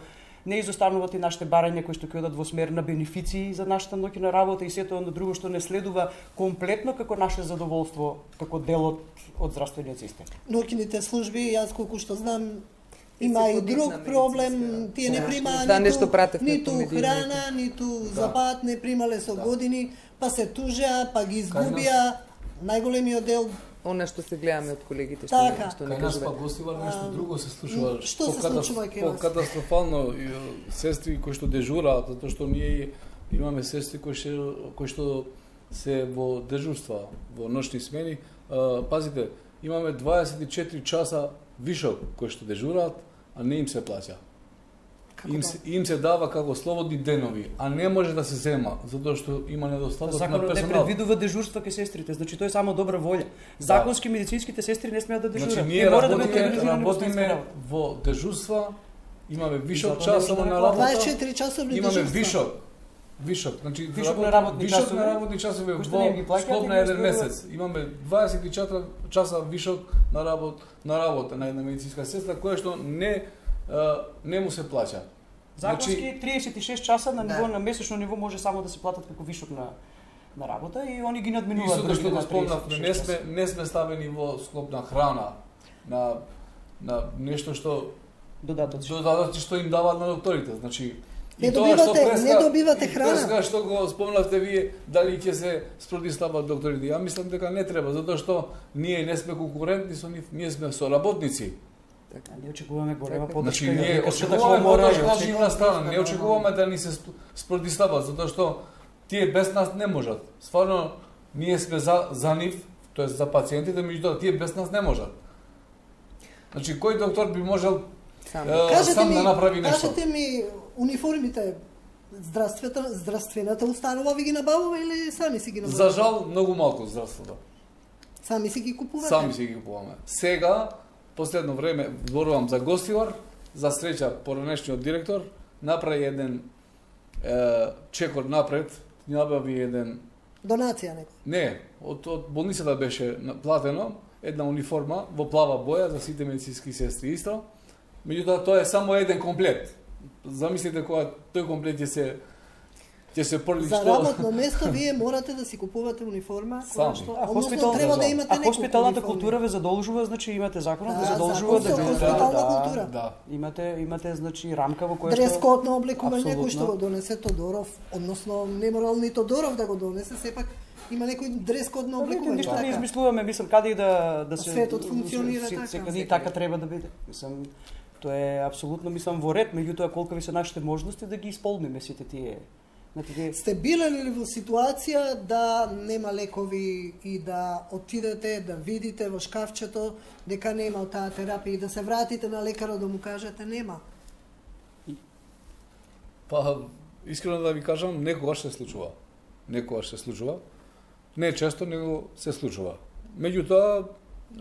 не изостануваат и нашите барања кои што ќе одат во смер на бенефиции за нашата ноќна работа и сето оно друго што не следува комплетно како наше задоволство, како дел од, од здравствениот систем. Ноќните служби, јас колку што знам, има и друг проблем, тие не примаат да, ниту, ниту храна, ниту запат, не примале со години, па се тужеа, па ги изгубија, најголемиот дел. Она што се гледаме од колегите што така. што не Кај нас кажуваме. па гостивар нешто друго се случува. Што се случува кај вас? Катастрофално сестри кои што дежураат, затоа што ние имаме сестри кои што кои што се во дежурства, во ноќни смени. А, пазите, имаме дваесет и четири часа вишок кои што дежураат, а не им се плаќа. Им се, им се дава како слободни денови, а не може да се зема, затоа што има недостаток на Законот персонал. не предвидува дежурства кај сестрите, значи тоа е само добра волја. Законски медицинските сестри не смеат да дежурат. Значи ние мора да работиме, бидат организирани во сменска работиме работа. во дежурства, имаме вишок Затоа не часово може да на не работа. дваесет и четири часовни Имаме дежурства. вишок. Вишок, значи Вишок работ- на работни вишок часови, на работни часови кои што не ги во плаќаат склоп и на ги еден остваруваат. месец. Имаме дваесет и четири часа вишок на работа на работа на една медицинска сестра која што не а, не му се плаќа. Законски Значи, триесет и шест часа на ниво Да. на месечно ниво може само да се платат како вишок на на работа и они ги и надминуваат со што го на спомнав, триесет и не шест сме часа. не сме ставени во склоп на храна, на на нешто што Додатоци. додатоци што им даваат на докторите, значи Не и тоа што добивате- преска- не добивате и храна. преска што го спомнавте вие, дали ќе се спротивстават докторите. Ја мислам дека не треба, затоа што ние не сме конкурентни со нив, ние сме соработници. Така, ние очекуваме голема поддршка. Значи и од ние лекарската очекуваме комора, и поддршка од од секоја нивна страна, не страна. очекуваме да ни се сп- спротивстават, затоа што тие без нас не можат. Стварно ние сме за за нив, тоест за пациентите, меѓутоа тие без нас не можат. Значи кој доктор би можел Само. е, Кажете сам ми, да направи нешто? кажете ми, униформите здравствената здравствената установа ви ги набавува или сами си ги набавувате? За жал многу малку здравството. Сами си ги купувате? Сами си ги купуваме. Сега, последно време, зборувам за гостивар, за среќа поранешниот директор направи еден е, чекор напред, набави еден Донација некој. не, од од болницата беше платено една униформа во плава боја за сите медицински сестри исто. Меѓутоа тоа е само еден комплет. Замислите кога тој комплет ќе се ќе се прли За што работно место вие морате да си купувате униформа, која Сами. што А односно хоспитал- треба да да. имате А неколку хоспиталната униформи. култура ве задолжува, значи имате законот Да, ве задолжува да закон со бидете хоспитална да, култура. Да. Имате имате значи рамка во која Дрес што код на облекување кој Апсолутно. што го донесе Тодоров, односно не морал ни Тодоров да го донесе, сепак има некој дрес код на Па, видите, облекување. ништо не така. измислуваме, мислам каде и да да се Светот функционира се- така. Секаде и така треба да биде. Мислам тоа е апсолутно мислам во ред, меѓутоа колку ви се нашите можности да ги исполниме сите тие Сте биле ли во ситуација да нема лекови и да отидете да видите во шкафчето дека нема таа терапија и да се вратите на лекарот да му кажете нема? Па, искрено да ви кажам, некогаш се случува. Некогаш се случува. Не често, него се случува. Меѓутоа,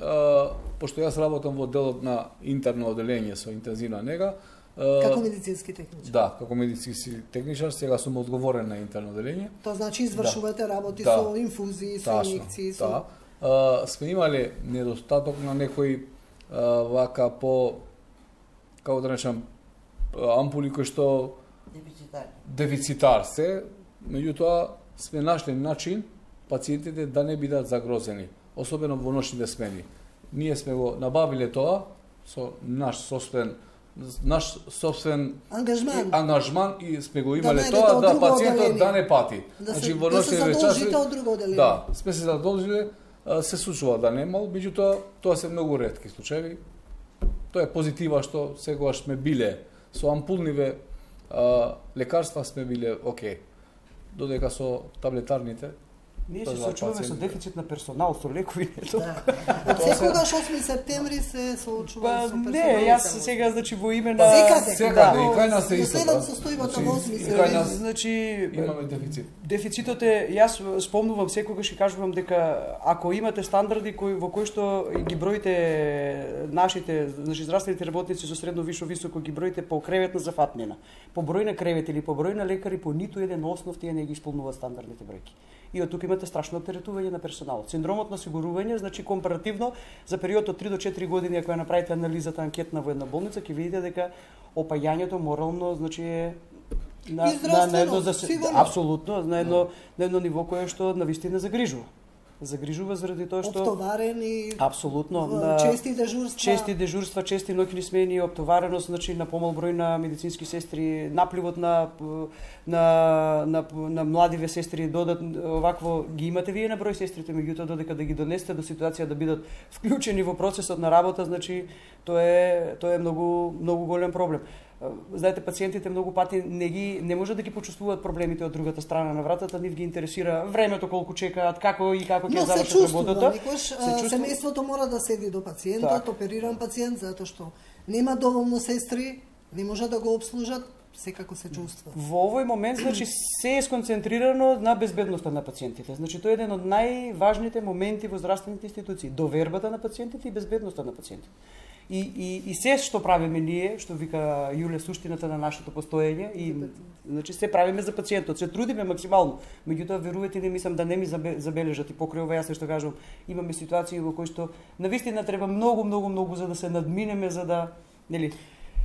а, пошто јас работам во делот на интерно оделение со интензивна нега, како медицински техничар. Да, како медицински техничар, сега сум одговорен на интерно оделение. Тоа значи извршувате да. работи да. со инфузии, со Тачно, инјекции, со да. А, сме имале недостаток на некои а, вака по, како да речам, ампули кои што Дефицитар. Дефицитар се, меѓутоа сме нашли начин пациентите да не бидат загрозени, особено во ношните смени. Ние сме го набавиле тоа со наш собствен наш собствен ангажман, ангажман и сме го имале да тоа да пациентот оделение. да не пати. Да значи се, во да се задолжите од друго оделение. Да, сме се задолжиле, се случува да немал, меѓутоа тоа се многу ретки случаи. Тоа е позитива што сегогаш сме биле со ампулниве а, лекарства сме биле окей. Додека со таблетарните ние се соочуваме со дефицит на персонал, со лекови. Да. Од секогаш осми септември се соочува со персонал. Не, јас сега значи во име на секаде, секаде и кај нас се исто. Следат состојбата во осми септември. Значи имаме дефицит. Дефицитот е, јас спомнувам секогаш и кажувам дека ако имате стандарди кои во кои што ги броите нашите, значи здравствените работници со средно вишо високо ги броите по креветна зафатнина, по број на кревети или по број на лекари, по ниту еден основ тие не ги исполнуваат стандардните бројки. И од тука имате страшно оптеретување на персоналот. Синдромот на осигурување, значи компаративно за период од три до четири години ако ја направите анализата анкетна во една болница, ќе видите дека опајањето морално значи е на на, на едно за апсолутно на едно на едно ниво кое што навистина загрижува. Загрижува заради тоа што оптоварени апсолутно на чести дежурства, чести дежурства, чести ноќни смени, оптовареност, значи на помал број на медицински сестри, напливот на на на, на младиве сестри додатно овакво ги имате вие на број сестрите, меѓутоа додека да ги донесете до ситуација да бидат вклучени во процесот на работа, значи тоа е тоа е многу многу голем проблем. Знаете, пациентите многу пати не ги не можат да ги почувствуваат проблемите од другата страна на вратата, нив ги интересира времето колку чекаат, како и како ќе завршат работата. Никош семејството мора да седи до пациентот, так. Опериран пациент, затоа што нема доволно сестри, не може да го обслужат, секако се чувства. Во овој момент, значи, се е сконцентрирано на безбедноста на пациентите. Значи, тоа е еден од најважните моменти во здравствените институции, довербата на пациентите и безбедноста на пациентите. И, и, и се што правиме ние, што вика Јуле, суштината на нашето постоење, и значи се правиме за пациентот, се трудиме максимално. Меѓутоа, верувате ли, мислам да не ми забележат и покрај ова, јас што кажам, имаме ситуации во кои што навистина треба многу, многу, многу за да се надминеме, за да, нели?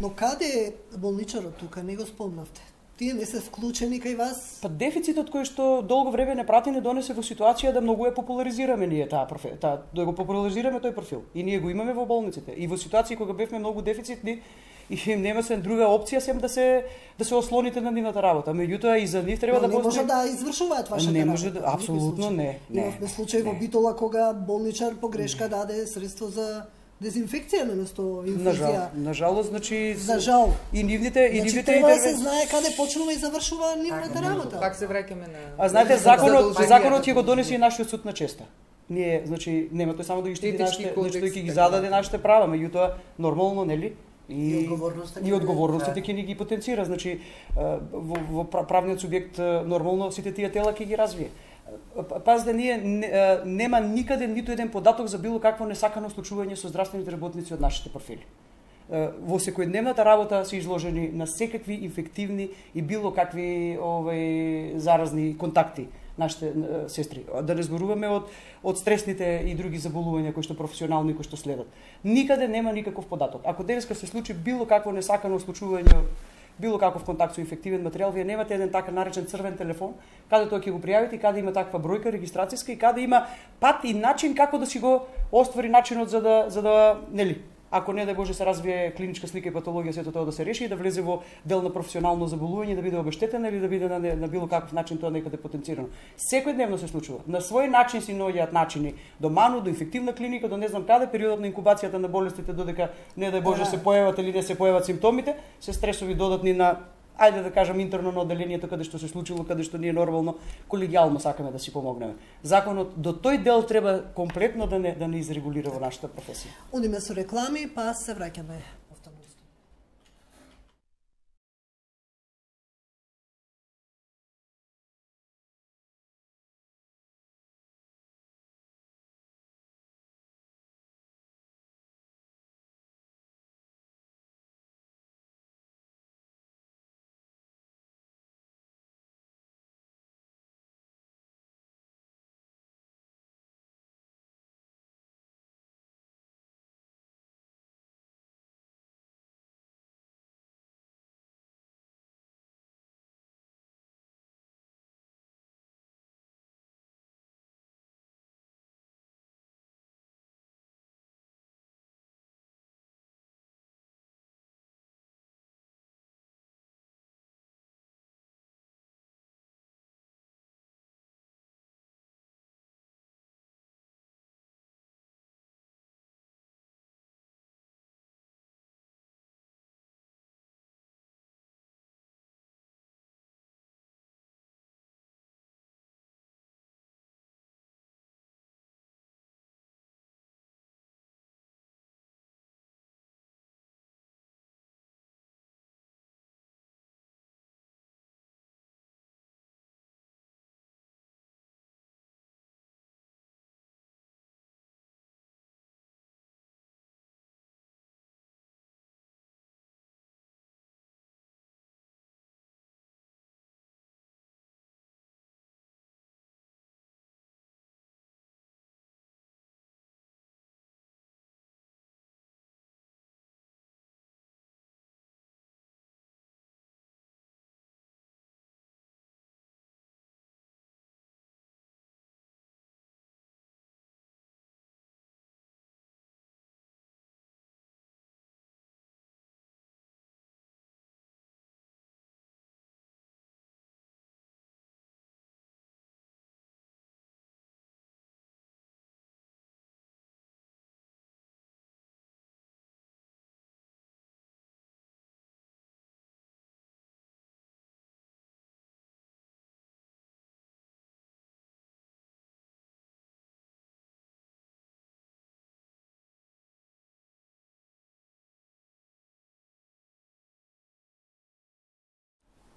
Но каде е болничарот тука, не го спомнавте? Тие не се вклучени кај вас? Па дефицитот кој што долго време не прати не донесе во ситуација да многу е популаризираме ние таа профил, таа да го популаризираме тој профил. И ние го имаме во болниците. И во ситуации кога бевме многу дефицитни и нема се друга опција сем да се да се ослоните на нивната работа. Меѓутоа и за нив треба Но да не може да извршуваат вашата не може работа. Да, апсолутно не. Не. Имавме случај во Битола кога болничар погрешка даде средство за дезинфекција наместо инфузија. На жал, на жалост, значи за жал. И нивните и значи, нивните треба да се знае каде почнува и завршува нивната работа. Пак се враќаме на А знаете, законот законот ќе го донесе и нашиот суд на честа. Ние, значи, нема тој само да ги штити нашите, значи тој ќе ги зададе нашите права, меѓутоа нормално, нели? И, и одговорноста и одговорностите ќе ни ги потенцира, значи во, во правниот субјект нормално сите тие тела ќе ги развие. Пазите, ние нема никаде ниту еден податок за било какво несакано случување со здравствените работници од нашите профили. Во секојдневната работа се изложени на секакви инфективни и било какви овај заразни контакти нашите сестри. Да не зборуваме од од стресните и други заболувања кои што професионални кои што следат. Никаде нема никаков податок. Ако денеска се случи било какво несакано случување, било каков контакт со инфективен материјал, вие немате еден така наречен црвен телефон, каде тоа ќе го пријавите, каде има таква бројка регистрацијска и каде има пат и начин како да си го оствари начинот за да за да нели ако не да Боже се развие клиничка слика и патологија, сето тоа да се реши и да влезе во дел на професионално заболување, да биде обештетена или да биде на, на било каков начин тоа некаде потенцирано. Секојдневно се случува. На свој начин си наоѓаат начини до ману, до инфективна клиника, до не знам каде, периодот на инкубацијата на болестите додека не да Боже се појават или не се појават симптомите, се стресови додатни на ајде да кажам интерно на одделението каде што се случило, каде што ние нормално колегијално сакаме да си помогнеме. Законот до тој дел треба комплетно да не да не изрегулира во нашата професија. Одиме со реклами, па се враќаме.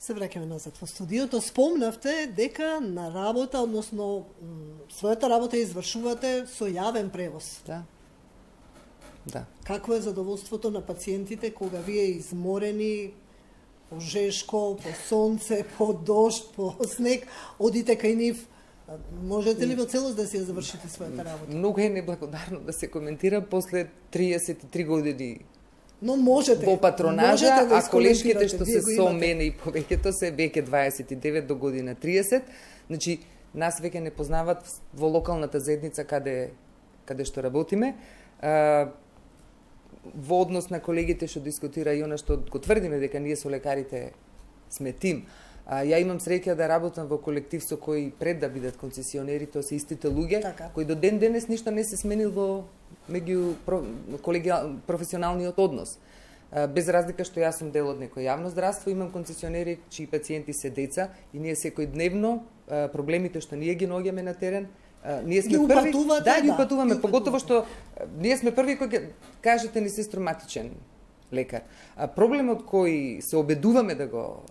Се враќаме назад во студиото. Спомнавте дека на работа, односно својата работа извршувате со јавен превоз. Да. Да. Какво е задоволството на пациентите кога вие изморени по жешко, по сонце, по дожд, по снег, одите кај нив? Можете ли во целост да си ја завршите својата работа? Многу е неблагодарно да се коментира после триесет и три години. Но можете. Во патронажа, можете да а колешките што се со имате. мене и повеќето се веќе дваесет и девет до година триесет. Значи, нас веќе не познават во локалната заедница каде каде што работиме. А, во однос на колегите што дискутира и она што го тврдиме дека ние со лекарите сме тим. А, ја имам среќа да работам во колектив со кои пред да бидат концесионери, тоа се истите луѓе, така, кои до ден денес ништо не се сменил во меѓу колегијал професионалниот однос. А, без разлика што јас сум дел од некој јавно здравство, имам концесионери чии пациенти се деца и ние секојдневно а, проблемите што ние ги наоѓаме на терен, а, ние сме ги први, упатувате, да, ги да, упатуваме, ги поготово што а, ние сме први кои кажете ни сестроматичен лекар. А проблемот кој се обедуваме да го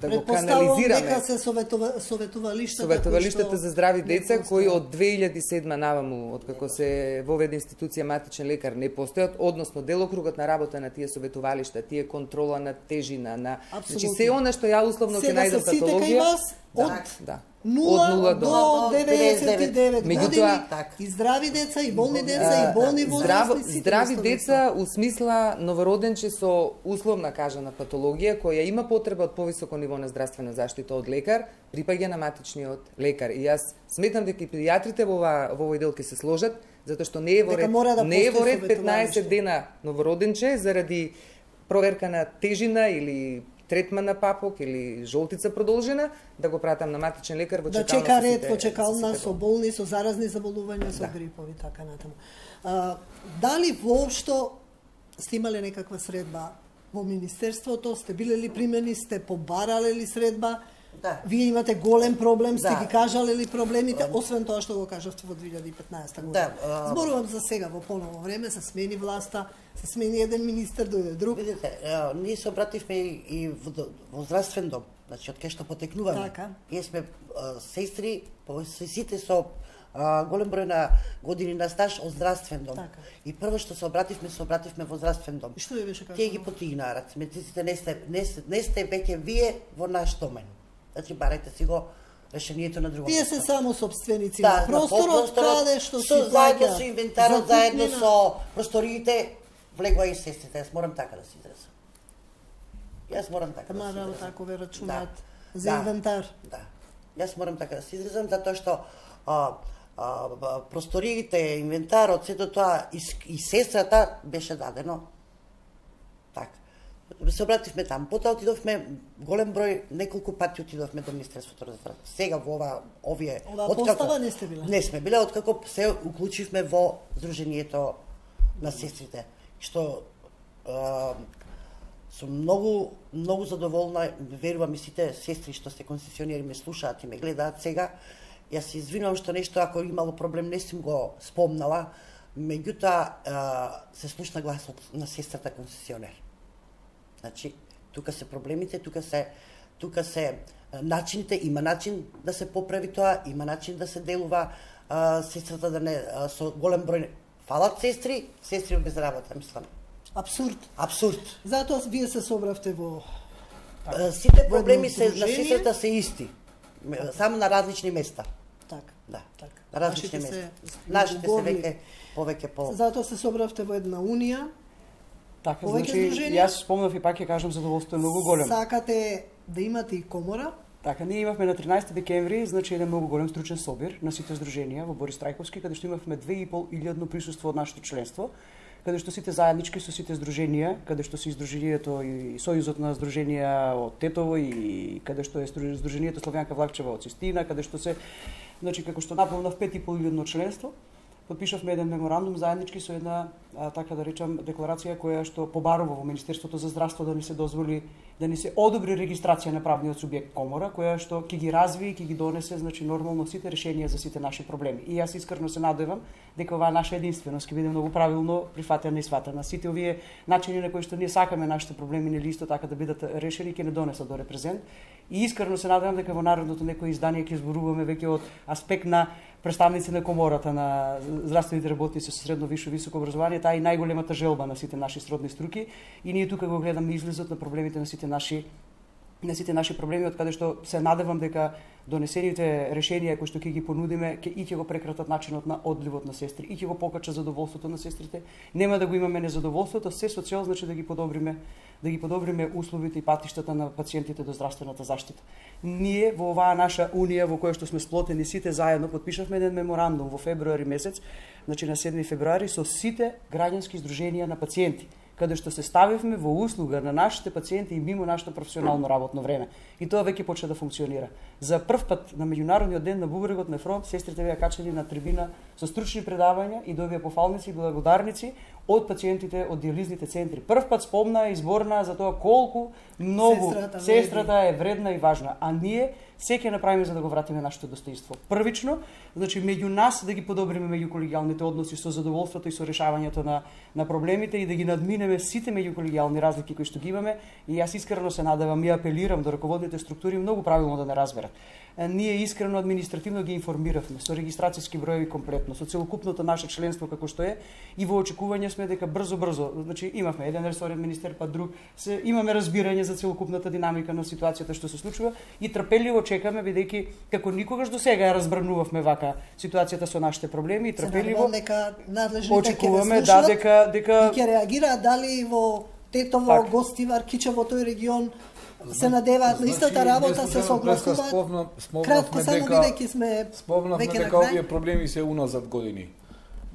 да го канализираме. Дека се советува, советувалиштата, советувалиштата за здрави деца кои од две илјади и седма наваму, откако се воведе институција матичен лекар, не постојат, односно делокругот на работа на тие советувалишта, тие контрола на тежина, на значи се она што ја условно ќе најдам патологија. Од да. нула до деветдесет и девет години Меѓутоа, и здрави деца, и болни деца, и болни возрастни. Здрави деца у смисла новороденче со условна кажана патологија, која има потреба од повисоко ниво на здравствена заштита од лекар, припаѓа на матичниот лекар. И јас сметам дека и педијатрите во, во овој дел ќе се сложат, затоа што не е во ред, да не е во ред петнаесет дена новороденче заради проверка на тежина или третман на папок или жолтица продолжена, да го пратам на матичен лекар во чекална. Да чека ред во чекална со болни, со заразни заболувања, со да. грипови, така натаму. А, дали воопшто сте имале некаква средба во министерството, сте биле ли примени, сте побарале ли средба? Да. Вие имате голем проблем, сте Да. ги кажале ли проблемите, освен тоа што го кажавте во две илјади и петнаесета година? Да, а... Зборувам за сега, во поново време, се смени власта, се смени еден министер, дојде друг. Видите, а, ние се обративме и, и во, во здравствен дом, значи од кај што потекнуваме. Така. Ние сме а, сестри, по сите со а, голем број на години на стаж од здравствен дом. Така. И прво што се обративме, се обративме во здравствен дом. И што ви беше кажано? Тие ги потигнаа раци, медиците не сте, не, сте- не сте веќе вие во наш домен. Значи барајте си го решението на друго. Тие се само собственици Да, на просторот, каде што си со, заедно плаќа со инвентарот, закупнина. заедно со просториите, влегува и сестрите. Јас морам така да се изразам. Јас морам така да Ама се работа изразам. ако ве рачунаат Да. за Да. инвентар. Да. Јас морам така да се изразам, затоа што а, а, а, просториите, инвентарот, сето тоа и, с- и сестрата беше дадено. Така. Се обративме там. Потоа отидовме голем број, неколку пати отидовме до Министерството за здравство. Сега во ова овие Оваа постава не сте биле? Не сме биле откако се уклучивме во Сдруженијето на сестрите, што а, сум многу многу задоволна, верувам и сите сестри што се концесионери ме слушаат и ме гледаат сега. Јас се извинувам што нешто ако имало проблем не сум го спомнала, меѓутоа а, се слушна гласот на сестрата концесионер. Значи, тука се проблемите, тука се тука се а, начините, има начин да се поправи тоа, има начин да се делува а, сестрата да не а, со голем број фалат сестри, сестри без работа, мислам. Абсурд. Абсурд. Затоа вие се собравте во А, Сите Во проблеми едно се на сдружение? сестрата се исти, Ме- само на различни места. така. Да. Така. На различни Нашите места. се Нашите се уговли. веќе повеќе по Затоа се собравте во една унија. Така, Повеќе значи, сдруженија? јас спомнав и пак ќе кажам, задоволство е многу големо. Сакате да имате и комора. Така, ние имавме на тринаесети декември, значи еден многу голем стручен собир на сите здруженија во Борис Трајковски, каде што имавме две и пол илјадно присуство од нашето членство, каде што сите заеднички со сите здруженија, каде што се издружението и Сојузот на здруженија од Тетово и каде што е стру- здружението Славјанка Влакчева од Систина, каде што се, значи како што наполнав пет и пол илјадно членство, подпишавме еден меморандум заеднички со една, а, така да речам, декларација која што побарува во Министерството за здравство да ни се дозволи, да ни се одобри регистрација на правниот субјект комора, која што ќе ги разви и ќе ги донесе, значи нормално сите решенија за сите наши проблеми. И јас искрено се надевам дека оваа наша единственост ќе биде многу правилно прифатена и сватена. Сите овие начини на кои што ние сакаме нашите проблеми нели исто така да бидат решени ќе не донесат до репрезент. И искрено се надевам дека во наредното некој издание ќе зборуваме веќе од аспект на представници на комората на здравствените работници со средно висше високо образование, таа е најголемата желба на сите наши сродни струки и ние тука го гледаме излезот на проблемите на сите наши на сите наши проблеми, од каде што се надевам дека донесените решенија кои што ќе ги понудиме ќе и ќе го прекратат начинот на одливот на сестри и ќе го покачат задоволството на сестрите. Нема да го имаме незадоволството, се со цел значи да ги подобриме да ги подобриме условите и патиштата на пациентите до здравствената заштита. Ние во оваа наша унија во која што сме сплотени сите заедно подпишавме еден меморандум во февруари месец, значи на седми февруари со сите граѓански здруженија на пациенти, каде што се ставивме во услуга на нашите пациенти и мимо нашето професионално работно време. И тоа веќе почна да функционира. За прв пат на меѓународниот ден на бубрегот на фронт сестрите беа качени на трибина со стручни предавања и добија пофалници и благодарници од пациентите од диализните центри. Прв пат спомна и зборна за тоа колку многу Сестрата сестрата е вредна и важна, а ние се ќе направиме за да го вратиме нашето достоинство. Првично, значи меѓу нас да ги подобриме меѓуколегијалните односи со задоволството и со решавањето на на проблемите и да ги надминеме сите меѓуколегијални разлики кои што ги имаме. И јас искрено се надевам и апелирам до раководните структури многу правилно да не разберат. Ние искрено административно ги информиравме со регистрацијски броеви комплетно, со целокупното наше членство како што е и во очекување сме дека брзо брзо, значи имавме еден ресорен министер па друг, се имаме разбирање за целокупната динамика на ситуацијата што се случува и трпеливо чекаме бидејќи како никогаш до сега ја разбранувавме вака ситуацијата со нашите проблеми и трпеливо нека надлежните очекуваме ќе ве да слушнат дека дека и ќе реагираат дали во Тетово, Так. Гостивар, Киче во тој регион се надеваат на истата работа, се согласуваат. Кратко само бидејќи сме Спомнавме веќе на дека крај. овие проблеми се уназад години.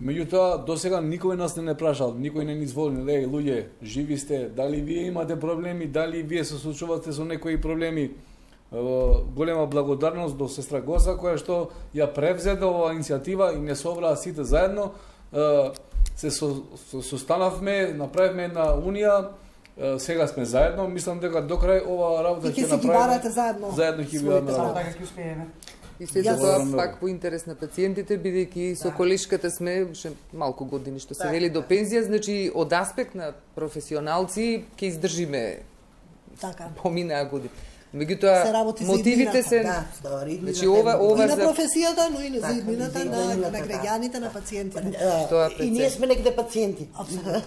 Меѓутоа, до сега никој нас не не прашал, никој не ни звони, леј, луѓе, живи сте, дали вие имате проблеми, дали вие се случувате со некои проблеми. Голема благодарност до сестра Госа, која што ја превзеде оваа иницијатива и не собраа сите заедно. Се состанавме, направивме една унија, сега сме заедно, мислам дека до крај ова работа И ќе ќе си ги направиме. барате заедно Заедно ќе своите бидеме Само работа. така ќе успееме. И се Јас- тоа Добро. пак по интерес на пациентите, бидејќи со колешката сме ше малку години што се Така, вели до пензија, значи од аспект на професионалци ќе издржиме Така. поминаа години. Се Меѓутоа работи за мотивите иднината, се Да, добро, иднината Значи, е ова- многу ова И на за- професијата, но и на Така, заиднината и за на, иднината, на да. граѓаните, на пациентите. Да, Тоа и пред ние се. сме негде пациенти. Апсолутно.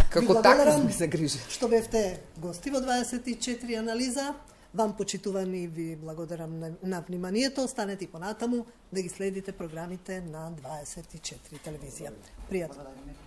како Ви така благодарам сме се грижи. Што бевте гости во дваесет и четири анализа. Вам, почитувани, ви благодарам на, на вниманието. Останете и понатаму да ги следите програмите на дваесет и четири телевизија. Пријатно.